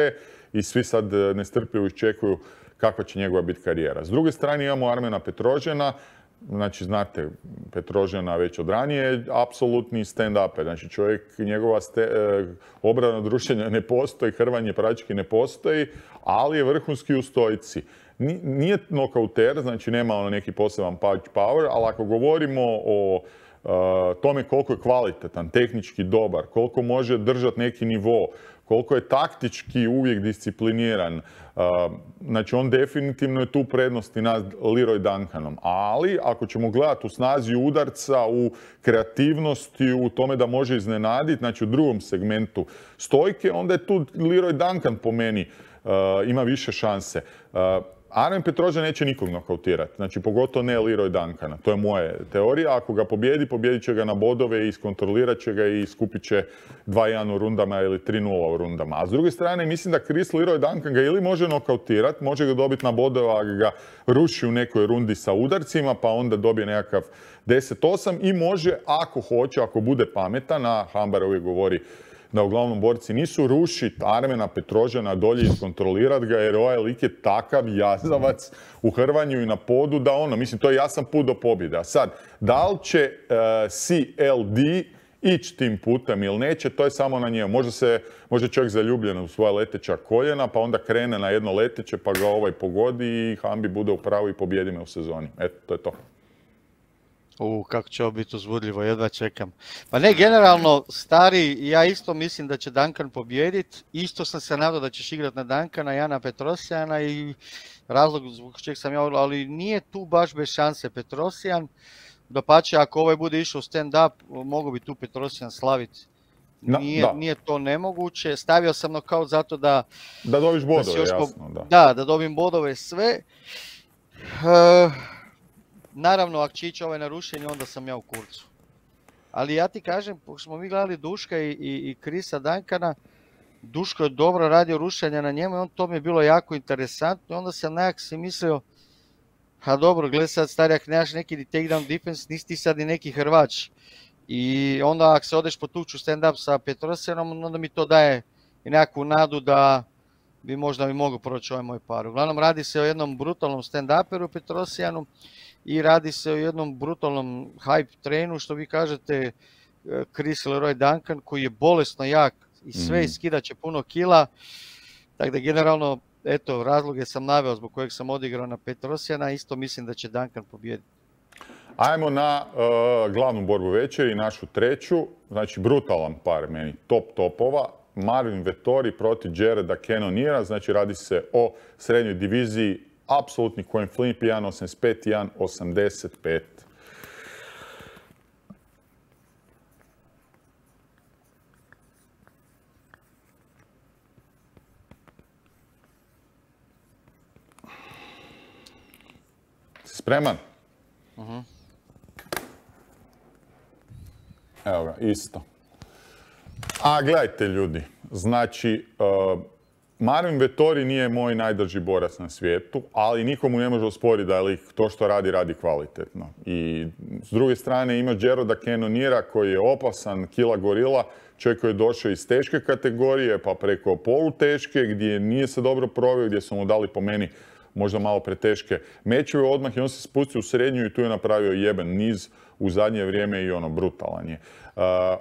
i svi sad nestrpljivo iščekuju kakva će njegova biti karijera. S druge strane imamo Armena Petrosyana, znači znate Petrosyana već od ranije, apsolutni stand-uper. Znači čovjek, njegova obrana od rušenja ne postoji, hrvanje prački ne postoji, ali je vrhunski u stojici. Nije nokauter, znači nema neki poseban punch power, ali ako govorimo o tome koliko je kvalitetan, tehnički dobar, koliko može držati neki nivo, koliko je taktički uvijek discipliniran, znači on definitivno je tu prednosti nad Leroy Duncanom. Ali ako ćemo gledati u snazi udarca, u kreativnosti, u tome da može iznenaditi, znači u drugom segmentu stojke, onda je tu Leroy Duncan po meni ima više šanse. Armen Petrosjan neće nikog nokautirati, znači pogotovo ne Leroy Duncana, to je moja teorija. Ako ga pobjedit će ga na bodove i iskontrolirat će ga i skupit će 2-1 u rundama ili 3-0 u rundama. A s druge strane, mislim da Leroy Duncan ga ili može nokautirati, može ga dobiti na bodove, a ga ruši u nekoj rundi sa udarcima, pa onda dobije nekakav 10-8 i može, ako hoće, ako bude pametan, a Hambar uvijek govori da uglavnom borci nisu, rušiti Armena Petrosjana dolje i iskontrolirati ga, jer ovaj lik je takav jazavac u hrvanju i na podu da mislim, to je jasan put do pobjede. A sad, da li će CLD ići tim putem ili neće, to je samo na njemu. Može čovjek zaljubljen u svoja leteća koljena, pa onda krene na jedno leteće, pa ga ovaj pogodi i Hambi bude u pravu i pobjedi me u sezoni. Eto, to je to. Kako će ovo biti uzbudljivo, jedva čekam. Pa ne, generalno, stari, ja isto mislim da će Duncan pobijediti. Isto sam se nadao da ćeš igrati na Duncana, ja na Petrosjana i razlog zbog čeg sam ja, ali nije tu baš bez šanse Petrosjan. Dapače, ako ovaj bude išao u stand-up, mogu bi tu Petrosjan slaviti. Nije to nemoguće. Stavio sam nokaut zato da... Da dobiš bodove, jasno, da. Da dobim bodove sve. Naravno, ako će ići ovaj na rušenje, onda sam ja u kurcu. Ali ja ti kažem, pošto smo mi gledali Duška i Chrisa Duncana, Duško je dobro radio rušenja na njemu i to mi je bilo jako interesantno. Onda sam nekak si mislio, dobro, gledaj sad stari, ako nemaš neki takedown defense, nisi ti sad i neki Hrvač. I onda ako se odeš potući u stand-up sa Petrosjanom, onda mi to daje i nekakvu nadu da bi možda mogao proći ovaj moj par. Uglavnom, radi se o jednom brutalnom stand-uperu Petrosjanu i radi se o jednom brutalnom hype trenu, što vi kažete, Chris Leroy Duncan, koji je bolesno jak i sve iskidat će puno kila. Tako da generalno, eto, razloge sam naveo zbog kojeg sam odigrao na Petrosjana, isto mislim da će Duncan pobijediti. Ajmo na glavnu borbu večeri, našu treću, znači brutalan par meni, topova. Marvin Vettori protiv Jareda Cannoniera, znači radi se o srednjoj diviziji, apsolutni coin flip, 1.85, 1.85. Si spreman? Evo ga, isto. A gledajte ljudi, znači Marvin Vettori nije moj najdrži borac na svijetu, ali nikomu ne može osporiti da je to što radi kvalitetno. I s druge strane ima Jareda Cannoniera koji je opasan, kila gorila, čovjek koji je došao iz teške kategorije pa preko poluteške gdje nije se dobro proveo, gdje su mu dali po meni možda malo preteške mečeve odmah i on se spustio u srednju i tu je napravio jeben niz u zadnje vrijeme i brutalan je.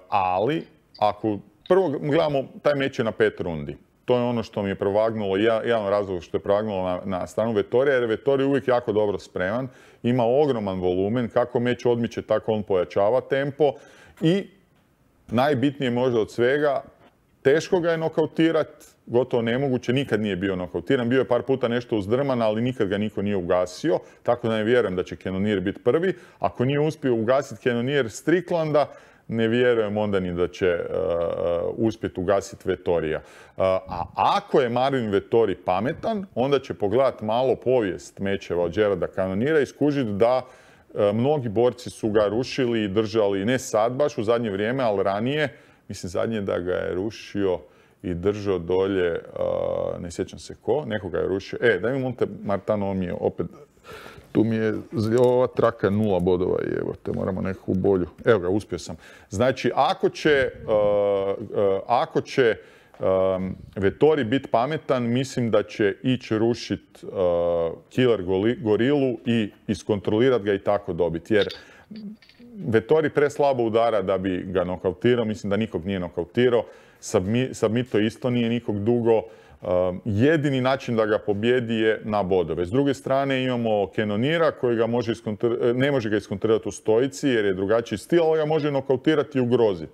Ali, ako prvo gledamo, taj meč je na 5 rundi. To je ono što mi je provagnulo, jedan razlog što je provagnulo na stranu Vettorija, jer Vettori je uvijek jako dobro spreman, ima ogroman volumen, kako meč odmiče, tako on pojačava tempo i najbitnije možda od svega, teško ga je nokautirati, gotovo nemoguće, nikad nije bio nokautiran, bio je par puta nešto uzdrman, ali nikad ga niko nije ugasio, tako da ne vjerujem da će Cannonier biti prvi. Ako nije uspio ugasiti Cannonier Stricklanda, ne vjerujem onda ni da će uspjeti ugasiti Vettorija. A ako je Marvin Vettori pametan, onda će pogledati malo povijest mečeva od Jareda Cannoniera i skužiti da mnogi borci su ga rušili i držali, ne sad baš u zadnje vrijeme, ali ranije. Mislim, zadnje da ga je rušio i držao dolje, ne sjećam se ko, nekoga je rušio. Daj mi Monte Martano, on mi je opet, tu mi je ova traka 0 bodova i evo te, moramo nekakvu bolju. Evo ga, uspio sam. Znači, ako će Vettori biti pametan, mislim da će ići rušiti Killer Gorilu i iskontrolirati ga i tako dobiti. Jer Vettori preslabo udara da bi ga nokautirao, mislim da nikog nije nokautirao. Submito isto nije nikog dugo. Jedini način da ga pobjedi je na bodove. S druge strane imamo Cannoniera koji ga ne može ga iskontrirati u stojici jer je drugačiji stil, ali ga može nokautirati i ugroziti.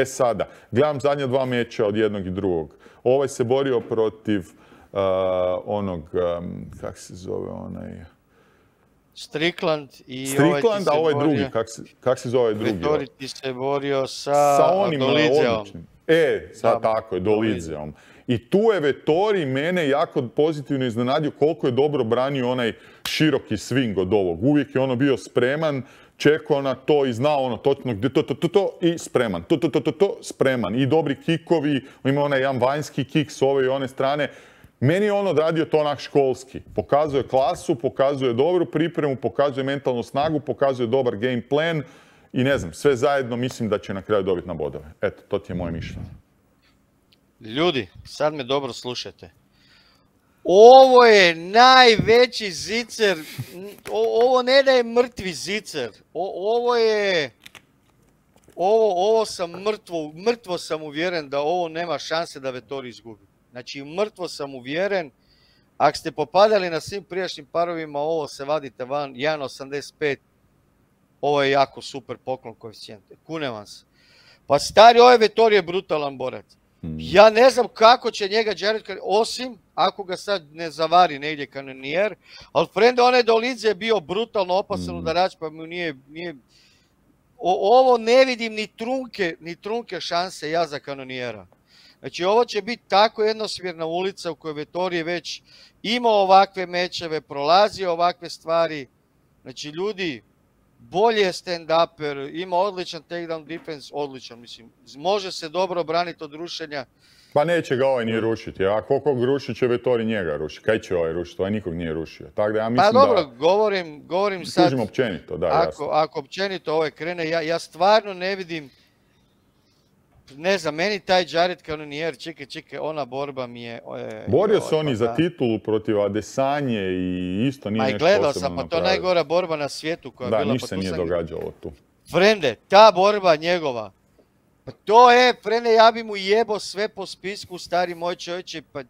Sada, gledam zadnja 2 meča od jednog i drugog. Ovaj se borio protiv kak se zove onaj... Strickland i Strickland, a ovaj drugi, kak se zove drugi? Vettori ti se borio sa onima Dolidzeom. odličnim. Tako je, Dolidzeom. I tu je Vettori mene jako pozitivno iznenadio koliko je dobro branio onaj široki swing od ovog. Uvijek je ono bio spreman, čekao na to i znao ono točno gdje to i spreman. Spreman. I dobri kikovi, ima onaj jedan vanjski kik s ove i one strane. Meni je on odradio to onak školski. Pokazuje klasu, pokazuje dobru pripremu, pokazuje mentalnu snagu, pokazuje dobar game plan i ne znam, sve zajedno mislim da će na kraju dobiti na bodove. Eto, to ti je moje mišljenje. Ljudi, sad me dobro slušajte. Ovo je najveći zicer, ovo ne da je mrtvi zicer, ovo sam mrtvo sam uvjeren da ovo nema šanse da Vettori izgubi. Znači, mrtvo sam uvjeren, ako ste popadali na svim prijašnjim parovima, ovo se vadite van, 1.85, ovo je jako super poklon koeficijente, kunem vam se. Pa stari, ovaj Vettori je brutalan borac. Ja ne znam kako će njega Jared, osim ako ga sad ne zavari negdje kanonijer, ali frende, onaj Dolidze je bio brutalno opasan udarač, pa mu nije... Ovo ne vidim ni trunke šanse ja za kanonijera. Znači, ovo će biti tako jednosmjerna ulica u kojoj Vettori je već imao ovakve mečeve, prolazio ovakve stvari. Znači, ljudi, bolje je stand-uper, ima odličan takedown defense, odličan, mislim. Može se dobro braniti od rušenja. Pa neće ga ovaj nije rušiti, a koliko rušit će Vettori njega rušiti. Kaj će ovaj rušiti? Ovaj nikog nije rušio. Tako da ja mislim pa dobro, govorim sad... Kužim općenito, da, jasno. Ako općenito ovaj krene, ja stvarno ne vidim... Ne znam, meni taj Jared Cannonier, čekaj, ona borba mi je... Borio se oni za titulu protiv Adesanje i isto nije nešto posebno napravio. Gledao sam, pa to je najgora borba na svijetu koja je bila. Da, ništa se nije događalo tu. Frende, ta borba njegova, pa to je, frende, ja bi mu jebo sve po spisku, stari moj čovječe, pa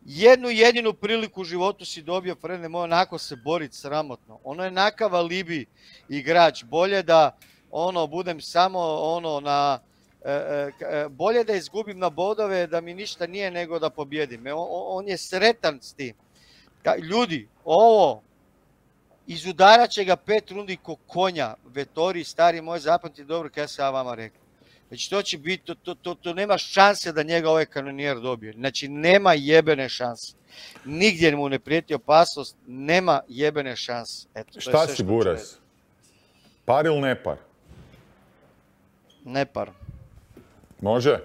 jednu jedinu priliku u životu si dobio, frende moj, onako se boriti sramotno. Ono je nakav alibi igrač, bolje da, budem samo, bolje da izgubim na bodove, da mi ništa nije nego da pobjedim. On je sretan s tim. Ljudi, izudarat će ga 5 rundi ko konja. Vettori, stari moj, zapamti dobro kada sam ja vama rekao. Znači, to će biti, to nema šanse da njega ovaj kanonijer dobije. Znači, nema jebene šanse. Nigdje mu ne prijeti opasnost, nema jebene šanse. Eto, šta si, Buras? Par ili ne par? Ne par. Može?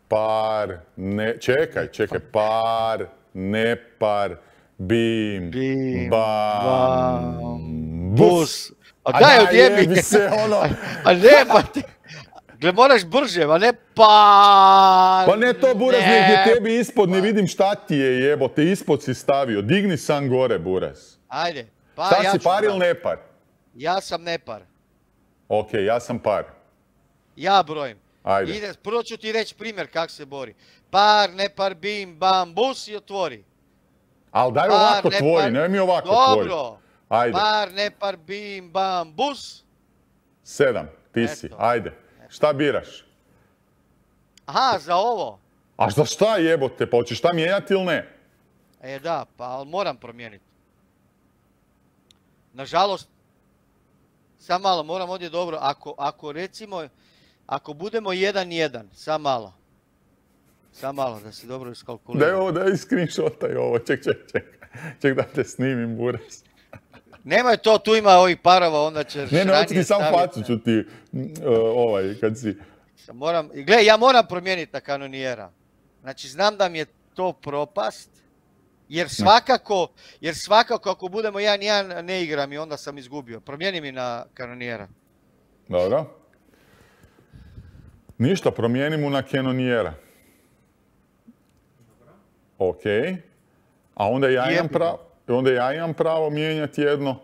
Par, ne, čekaj, par, ne par, bim, bam, bus. A daj odjebi se, A ne, pa ti, moraš brže, a ne par. Pa ne to, Buras, negdje tebi ispod, ne vidim šta ti je, jebote, ispod si stavio, digni sam gore, Buras. Ajde, pa šta si, par ili ne par? Ja sam ne par. Ok, ja sam par. Ja brojim. Ajde. Prvo ću ti reći primjer kako se bori. Par, ne par, bim, bam, bus i otvori. Ali daj ovako tvori, nemoj mi ovako tvori. Dobro. Ajde. Par, ne par, bim, bam, bus. 7, ti si, ajde. Šta biraš? Aha, za ovo. A za šta jebote, pa hoćeš šta mijenjati ili ne? Da, pa ali moram promijeniti. Nažalost, sam malo, moram ovdje dobro, ako recimo, ako budemo 1-1, sam malo, da se dobro iskalkulira. Daj ovo, daj screenshotaj ovo, ček da te snimim, Buras. Nemoj to, tu ima ovih parova, onda ćeš ranije staviti. Ne, hoću ti sam facu, ću ti, kad si... Gle, ja moram promijeniti na kanonijera. Znači, znam da mi je to propast, jer svakako ako budemo 1-1 ne igram i onda sam izgubio. Promijeni mi na kanonijera. Dobro. Ništa, promijeni mu na kanonijera. Ok. A onda ja imam pravo mijenjati jedno.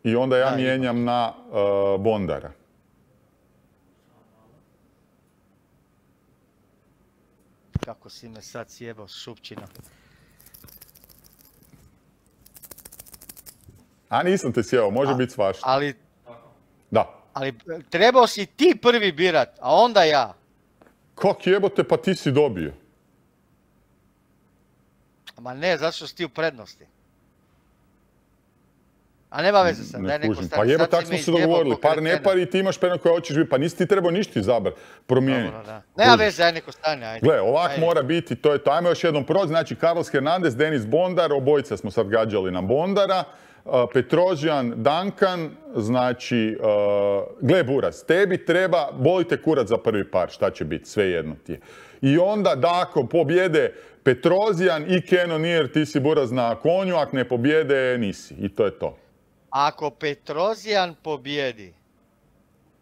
I onda ja mijenjam na Bondara. Kako si me sad sjebao, šupčina. A nisam te sjebao, može biti svašta. Ali... Da. Ali trebao si ti prvi birat, a onda ja. Kak jebote, pa ti si dobio. Ma ne, zato što si ti u prednosti. A nema veze sad, daj Ne neko kužim. stane. Pa jebo, Sad tak si smo me se izjebao dogovorili. ko Par kretena. ne par i ti imaš pena koja hoćeš biti. Pa nisi ti trebao ništa izabrati, promijeniti. Dobro, da. Nema veze, daj neko stane, ajde. Gle, ovak Ajde. mora biti, to je to. Ajmo još jednom proći. Znači, Carlos Hernandez, Denis Bondar, obojica smo sad gađali na Bondara. Petrozian, Duncan, znači, gle Buras, tebi treba, boli te kurac za prvi par, šta će biti, sve jedno ti je. I onda da ako pobjede Petrozian i Cannonier, ti si Buras na konju, ako ne pobjede, nisi. I to je to. Ako Petrozian pobjedi,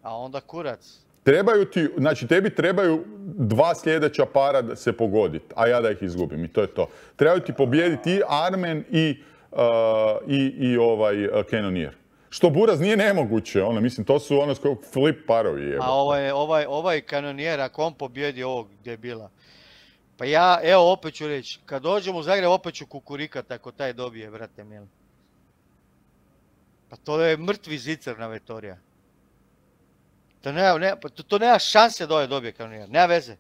a onda kurac. Trebaju ti, znači tebi trebaju 2 sljedeća para da se pogoditi, a ja da ih izgubim i to je to. Trebaju ti pobijediti i Armen i Cannonier. Što Buraz nije nemoguće, mislim, to su flip parovi. Jebo. A ovaj Cannonier, ako on pobjedi ovog gdje je bila. Pa ja, evo opet ću reći, kad dođem u Zagreb opet ću kukurikat ako taj dobije, brate mili. Pa to je mrtvi zicer na Vettorija. To nema šanse da ovaj dobije Cannonier, nema veze.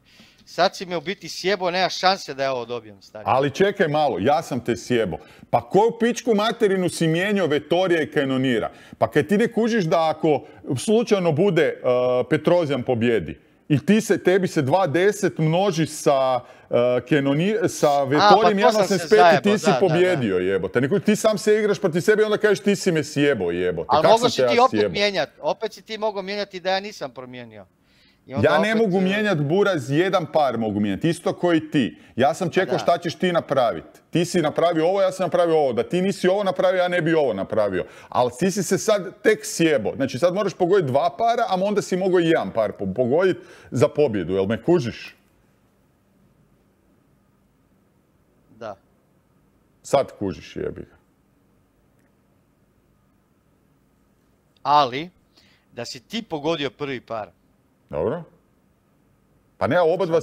Sad si me u biti sjebo, nema šanse da ja ovo dobijem, stari. Ali čekaj malo, ja sam te sjebo. Pa koju pičku materinu si mijenjao Vettorija i Cannoniera? Pa kad ti ne kužiš da ako slučajno bude Petrozian pobjedi i tebi se 2.10 množi sa Vettorijem 1.85 i ti si pobjedio, jebote. Ti sam se igraš protiv sebe i onda kažeš ti si me sjebo, jebote. Ali mogo si ti opet mijenjati, opet si ti mogao mijenjati da ja nisam promijenio. Ja ne mogu mijenjati Buraz, jedan par mogu mijenjati, isto koji ti. Ja sam čekao šta ćeš ti napraviti. Ti si napravio ovo, ja sam napravio ovo. Da ti nisi ovo napravio, ja ne bi ovo napravio. Ali ti si se sad tek sjebo. Znači sad moraš pogoditi 2 para, a onda si mogao i 1 par pogoditi za pobjedu. Jel me kužiš? Da. Sad kužiš, jebi ga. Ali, da si ti pogodio prvi par. Dobro. Pa ne, oba dva...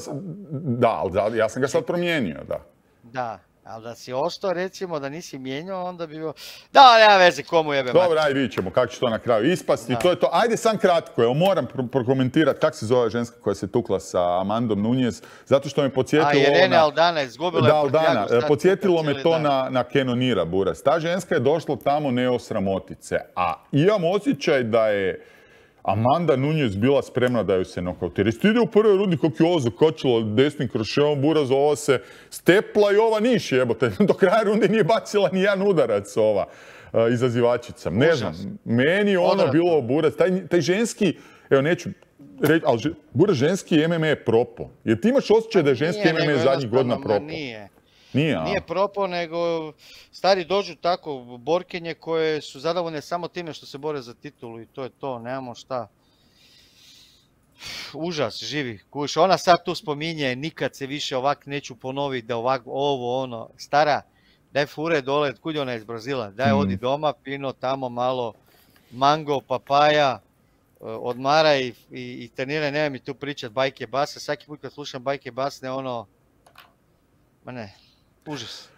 Da, ali ja sam ga sad promijenio, da. Da, ali da si ostao, recimo, da nisi mijenjao, onda bi bilo... Da, nema veze, komu jebe mati. Dobro, ajde vidit ćemo kako će to na kraju ispasti. To je to. Ajde sam kratko, evo moram prokomentirati kako se zove ženska koja se tukla sa Amandom Nunez, zato što me podsjetilo... Irene Aldana, izgubila je Aldana, podsjetilo me to na Cannoniera, Buras. Ta ženska je došla tamo ne osramotice, a imam osjećaj da je Amanda Nunez bila spremna da ju se nokautira. Isto ide u prvoj rundi kako je ovo zakočilo desnim kroševom Buraz, ova se stepla i ova niš jebote. Do kraja runde nije bacila ni jedan udarac ova izazivačica. Ne znam, meni ono bilo Buraz. Taj ženski, evo neću reći, ali Buraz ženski MMA je propo. Jer ti imaš osjećaj da je ženski MMA zadnjih godina propo? Nije. Nije propo, nego stari dođu tako borkinje koje su zadovoljne samo time što se bore za titulu i to je to, nemamo šta. Užas, živi, kuš. Ona sad tu spominje, nikad se više ovak neću ponoviti, da ovak, ovo, ono. Stara, daj fure dole, kud je ona iz Brazila, daj odi doma, pino tamo malo, mango, papaja, odmaraj i treniraj, nema mi tu pričat bajke base. Svaki put kad slušam bajke basne, ono, ma ne. Užas.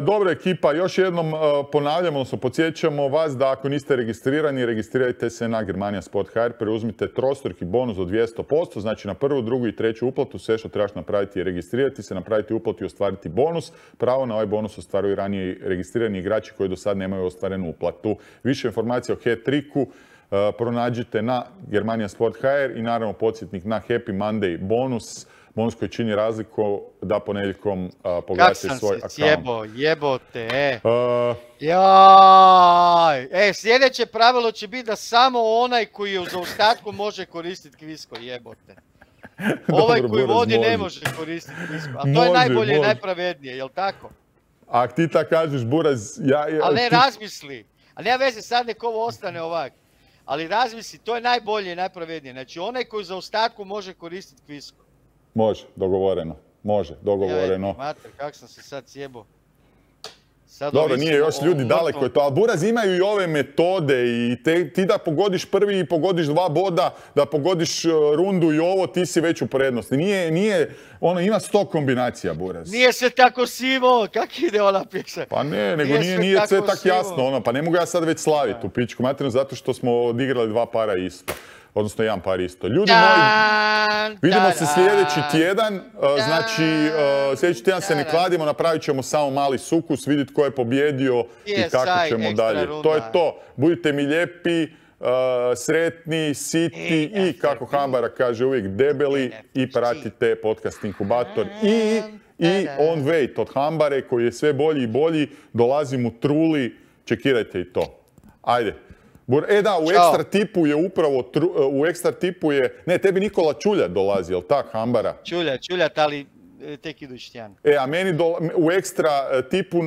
Dobro ekipa, još jednom ponavljamo, odnosno podsjećamo vas da ako niste registrirani, registrirajte se na Germania Sport HR, preuzmite trostruki bonus od 200%, znači na prvu, drugu i treću uplatu sve što trebaš napraviti je registrirati se, napraviti uplatu i ostvariti bonus. Pravo na ovaj bonus ostvaruju ranije registrirani igrači koji do sad nemaju ostvarenu uplatu. Više informacija o hat-tricku pronađite na Germania Sport HR i naravno podsjetnik na Happy Monday bonus. Bonus koji čini razliku da ponedjeljkom pogledate svoj akaunt. Kak sam se jebote, Jaj! Sljedeće pravilo će biti da samo onaj koji je u zaostatku može koristiti kvisko, jebote. Ovaj koji vodi ne može koristiti kvisko. A to je najbolje i najpravednije, jel tako? A ti tako kažeš, Buraz... Ali ne razmisli. A nema veze, sad nek ovo ostane ovak. Ali razmisli, to je najbolje i najpravednije. Znači, onaj koji u zaostatku može koristiti kvisko. Može, dogovoreno. Može, dogovoreno. Mater, kak sam se sad sjebo. Dobro, nije još ljudi daleko je to, ali Buraz imaju i ove metode i ti da pogodiš prvi i pogodiš 2 boda, da pogodiš rundu i ovo, ti si već u prednosti. Nije, ima 100 kombinacija, Buraz. Nije sve tako sivo, kak ide ona pješa? Pa ne, nego nije sve tako jasno, pa ne mogu ja sad već slaviti u pičku materinu zato što smo odigrali 2 para isto. Odnosno jedan par isto. Ljudi moji, vidimo se sljedeći tjedan. Znači, sljedeći tjedan se ne kladimo, napravit ćemo samo mali sukus, vidjeti ko je pobjedio i kako ćemo dalje. To je to. Budite mi lijepi, sretni, siti i, kako Hambara kaže uvijek, debeli i pratite podcast Inkubator i On Wait od Hambare koji je sve bolji i bolji. Dolazim u Truli, čekirajte i to. Ajde. Da, u Ekstra Tipu je upravo, u Ekstra Tipu je, ne, tebi Nikola Čuljat dolazi, jel tak, Hambara? Čuljat, ali tek idući tjedan. A meni u Ekstra Tipu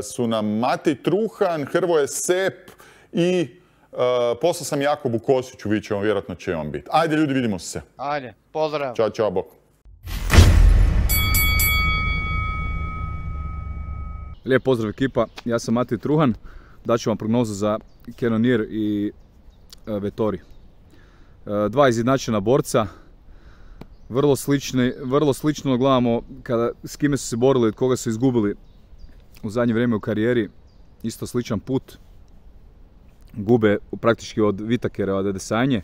su nam Matej Truhan, Hrvoje Sep i poslao sam Jakobu Kosiću, vidjet ćemo, vjerojatno će on biti. Ajde ljudi, vidimo se. Ajde, pozdrav. Ćao, bok. Lijep pozdrav ekipa, ja sam Matej Truhan. Daću vam prognozu za Cannonier i Vettori. Dva izjednačena borca, vrlo slično gledamo s kime su se borili, od koga su izgubili u zadnje vrijeme u karijeri. Isto sličan put. Gube praktički od Vitakera, od Adesanje,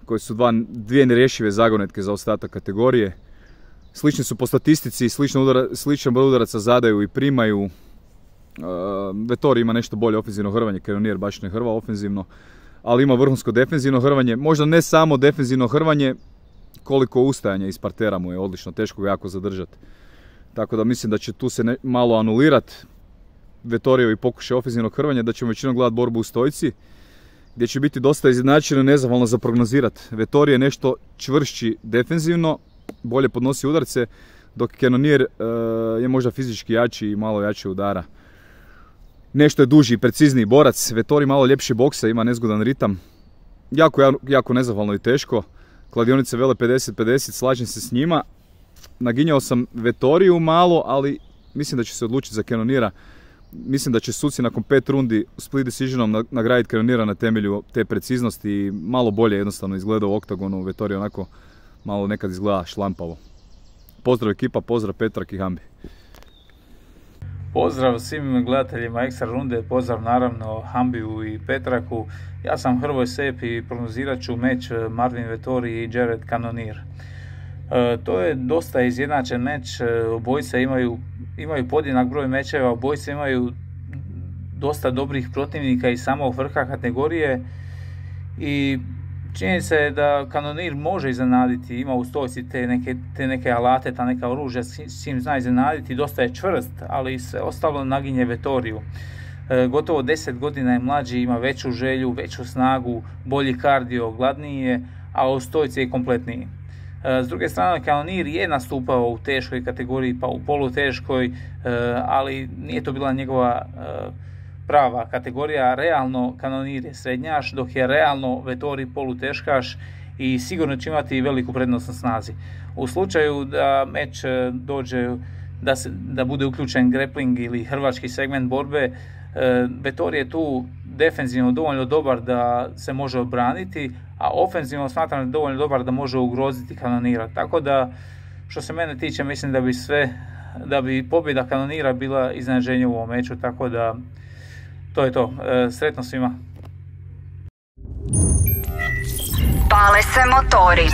koji su dvije nerješive zagonetke za ostatak kategorije. Slični su po statistici, sličan broj udaraca zadaju i primaju. Vettori ima nešto bolje ofenzivno hrvanje, Cannonier baš ne hrva ofenzivno, ali ima vrhunsko defenzivno hrvanje. Možda ne samo defenzivno hrvanje, koliko ustajanja iz partera mu je odlično, teško ga jako zadržati. Tako da mislim da će tu se malo anulirati Vettorijevi pokušaj ofenzivnog hrvanja, da ćemo većinom gledati borbu u stojci, gdje će biti dosta izjednačeno i nezahvalno za prognozirati. Vettori je nešto čvršći defenzivno, bolje podnosi udarce, dok Cannonier je možda fizički jači i malo jače udara. Nešto je duži i precizniji borac, Vettori malo ljepši boksa, ima nezgodan ritam. Jako nezahvalno i teško. Kladionice vele 50-50, slažem se s njima. Naginjao sam Vettoriju malo, ali mislim da će se odlučiti za Cannoniera. Mislim da će suci nakon 5 rundi split decisionom nagraditi Cannoniera na temelju te preciznosti i malo bolje jednostavno izgleda u oktagonu. Vettori onako malo nekad izgleda šlampavo. Pozdrav ekipa, pozdrav Petrak i Hambi. Pozdrav svim gledateljima Ekstra runde, pozdrav naravno Hambiju i Petraku. Ja sam Hrvoje Sep i prognozirat ću meč Marvin Vettori i Jared Cannonier. To je dosta izjednačen meč, obojice imaju podjednak broj mečeva, obojice imaju dosta dobrih protivnika iz samog vrha kategorije i činjenica je da Cannonier može iznenaditi, ima u stojci te neke alate, ta neka oružja s čim zna iznenaditi, dosta je čvrst, ali sve ostalo naginje Vettoriju. Gotovo 10 godina je mlađi, ima veću želju, veću snagu, bolji kardio, gladniji je, a u stojci je kompletniji. S druge strane, Cannonier je nastupao u teškoj kategoriji, pa u poluteškoj, ali nije to bila njegova prava kategorija. Realno Cannonier je srednjaš, dok je realno Vettori poluteškaš i sigurno će imati veliku prednost na snazi. U slučaju da meč dođe, da bude uključen grappling ili hrvački segment borbe, Vettori je tu defenzivno dovoljno dobar da se može obraniti, a ofenzivno smatram da je dovoljno dobar da može ugroziti Cannoniera. Tako da, što se mene tiče, mislim da bi pobjeda Cannoniera bila iznenađenje u ovom meču, tako da to je to. Sretno svima. Pale se motori.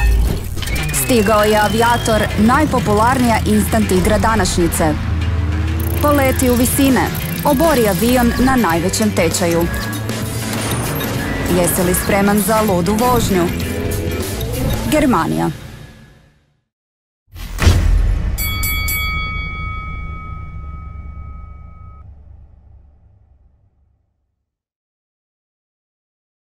Stigao je Aviator, najpopularnija instant igra današnjice. Poleti u visine. Obori avion na najvećem tečaju. Jesi li spreman za ludu vožnju? Germanija.